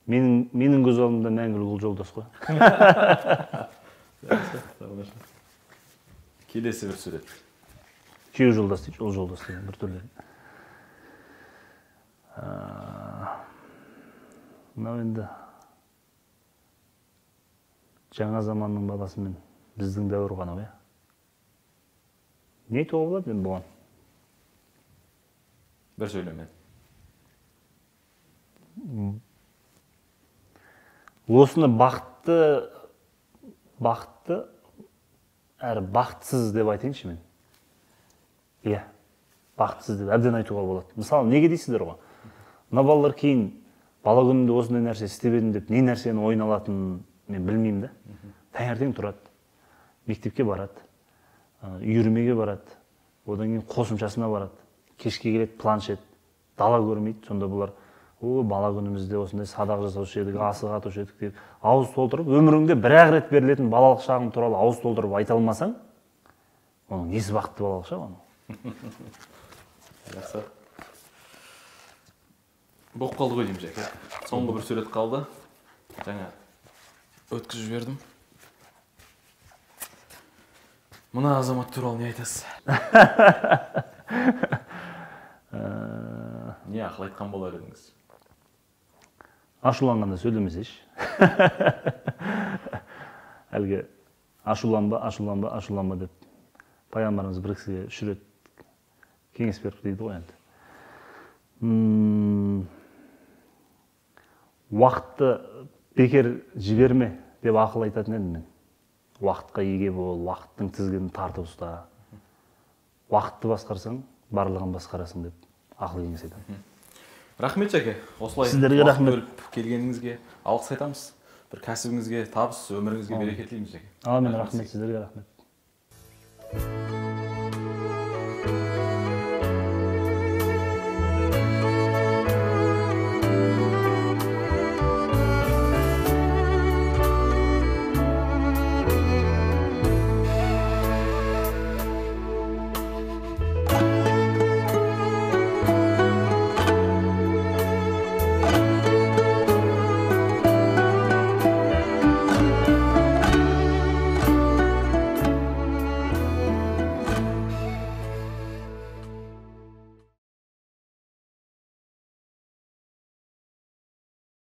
Менің көз алдымда мәңгілік ол жолдас қой. Келесі бір сурет. Күйеу жолдас дейді, ол жолдас деген бір түрлі. Мынау енді жаңа заманның баласымен біздің дәуір ғана ғой. Не айтуға болады енді бұған? Бір сөйлемен. Осыны бақытты әрі бақытсыз деп айтайыншы мен. Иә, бақытсыз деп әбден айтуға болады. Мысалы, неге дейсіздер ғой? Мына балалар кейін бала күнімде осындай нәрсе істеп едім деп, не нәрсені ойына алатынын мен білмеймін да. Таңертең тұрады, мектепке барады, үйірмеге барады, одан кейін қосымшасына барады, кешке келеді планшет, дала көрмейді. Сонда бұлар, бала күнімізде осындай садақ жасаушы едік, асық атушы едік деп ауыз толтырып, өміріңде бір-ақ рет берілетін балалық шағың туралы ауыз толтырып айта алмасаң, оның несі бақытты балалық шақ оның? Жақсы. Болып қалды ғой деймін Жәке. Соңғы бір сурет қалды. Жаңа өткізіп жібердім. Мына азамат туралы не айтасыз? Не ақыл айтқан болар едіңіз? Ашуланғанда сөйлемесейші. Әлгі ашуланба деп пайғамбарымыз бір кісіге үш рет кеңес беріп дейді ғой енді. Уақытты бекер жіберме деп ақыл айтатын едім мен. Уақытқа еге бол, уақыттың тізгінін тартып ұста. Уақытты басқарсаң, барлығын басқарасың деп ақыл кеңес айтамын. Рахмет Жәке. Осылай сіздерге рахмет. Бөліп келгеніңізге алғыс айтамыз. Бір кәсібіңізге табыс, өміріңізге береке тілейміз Жәке. Амин, рахмет, сіздерге рахмет.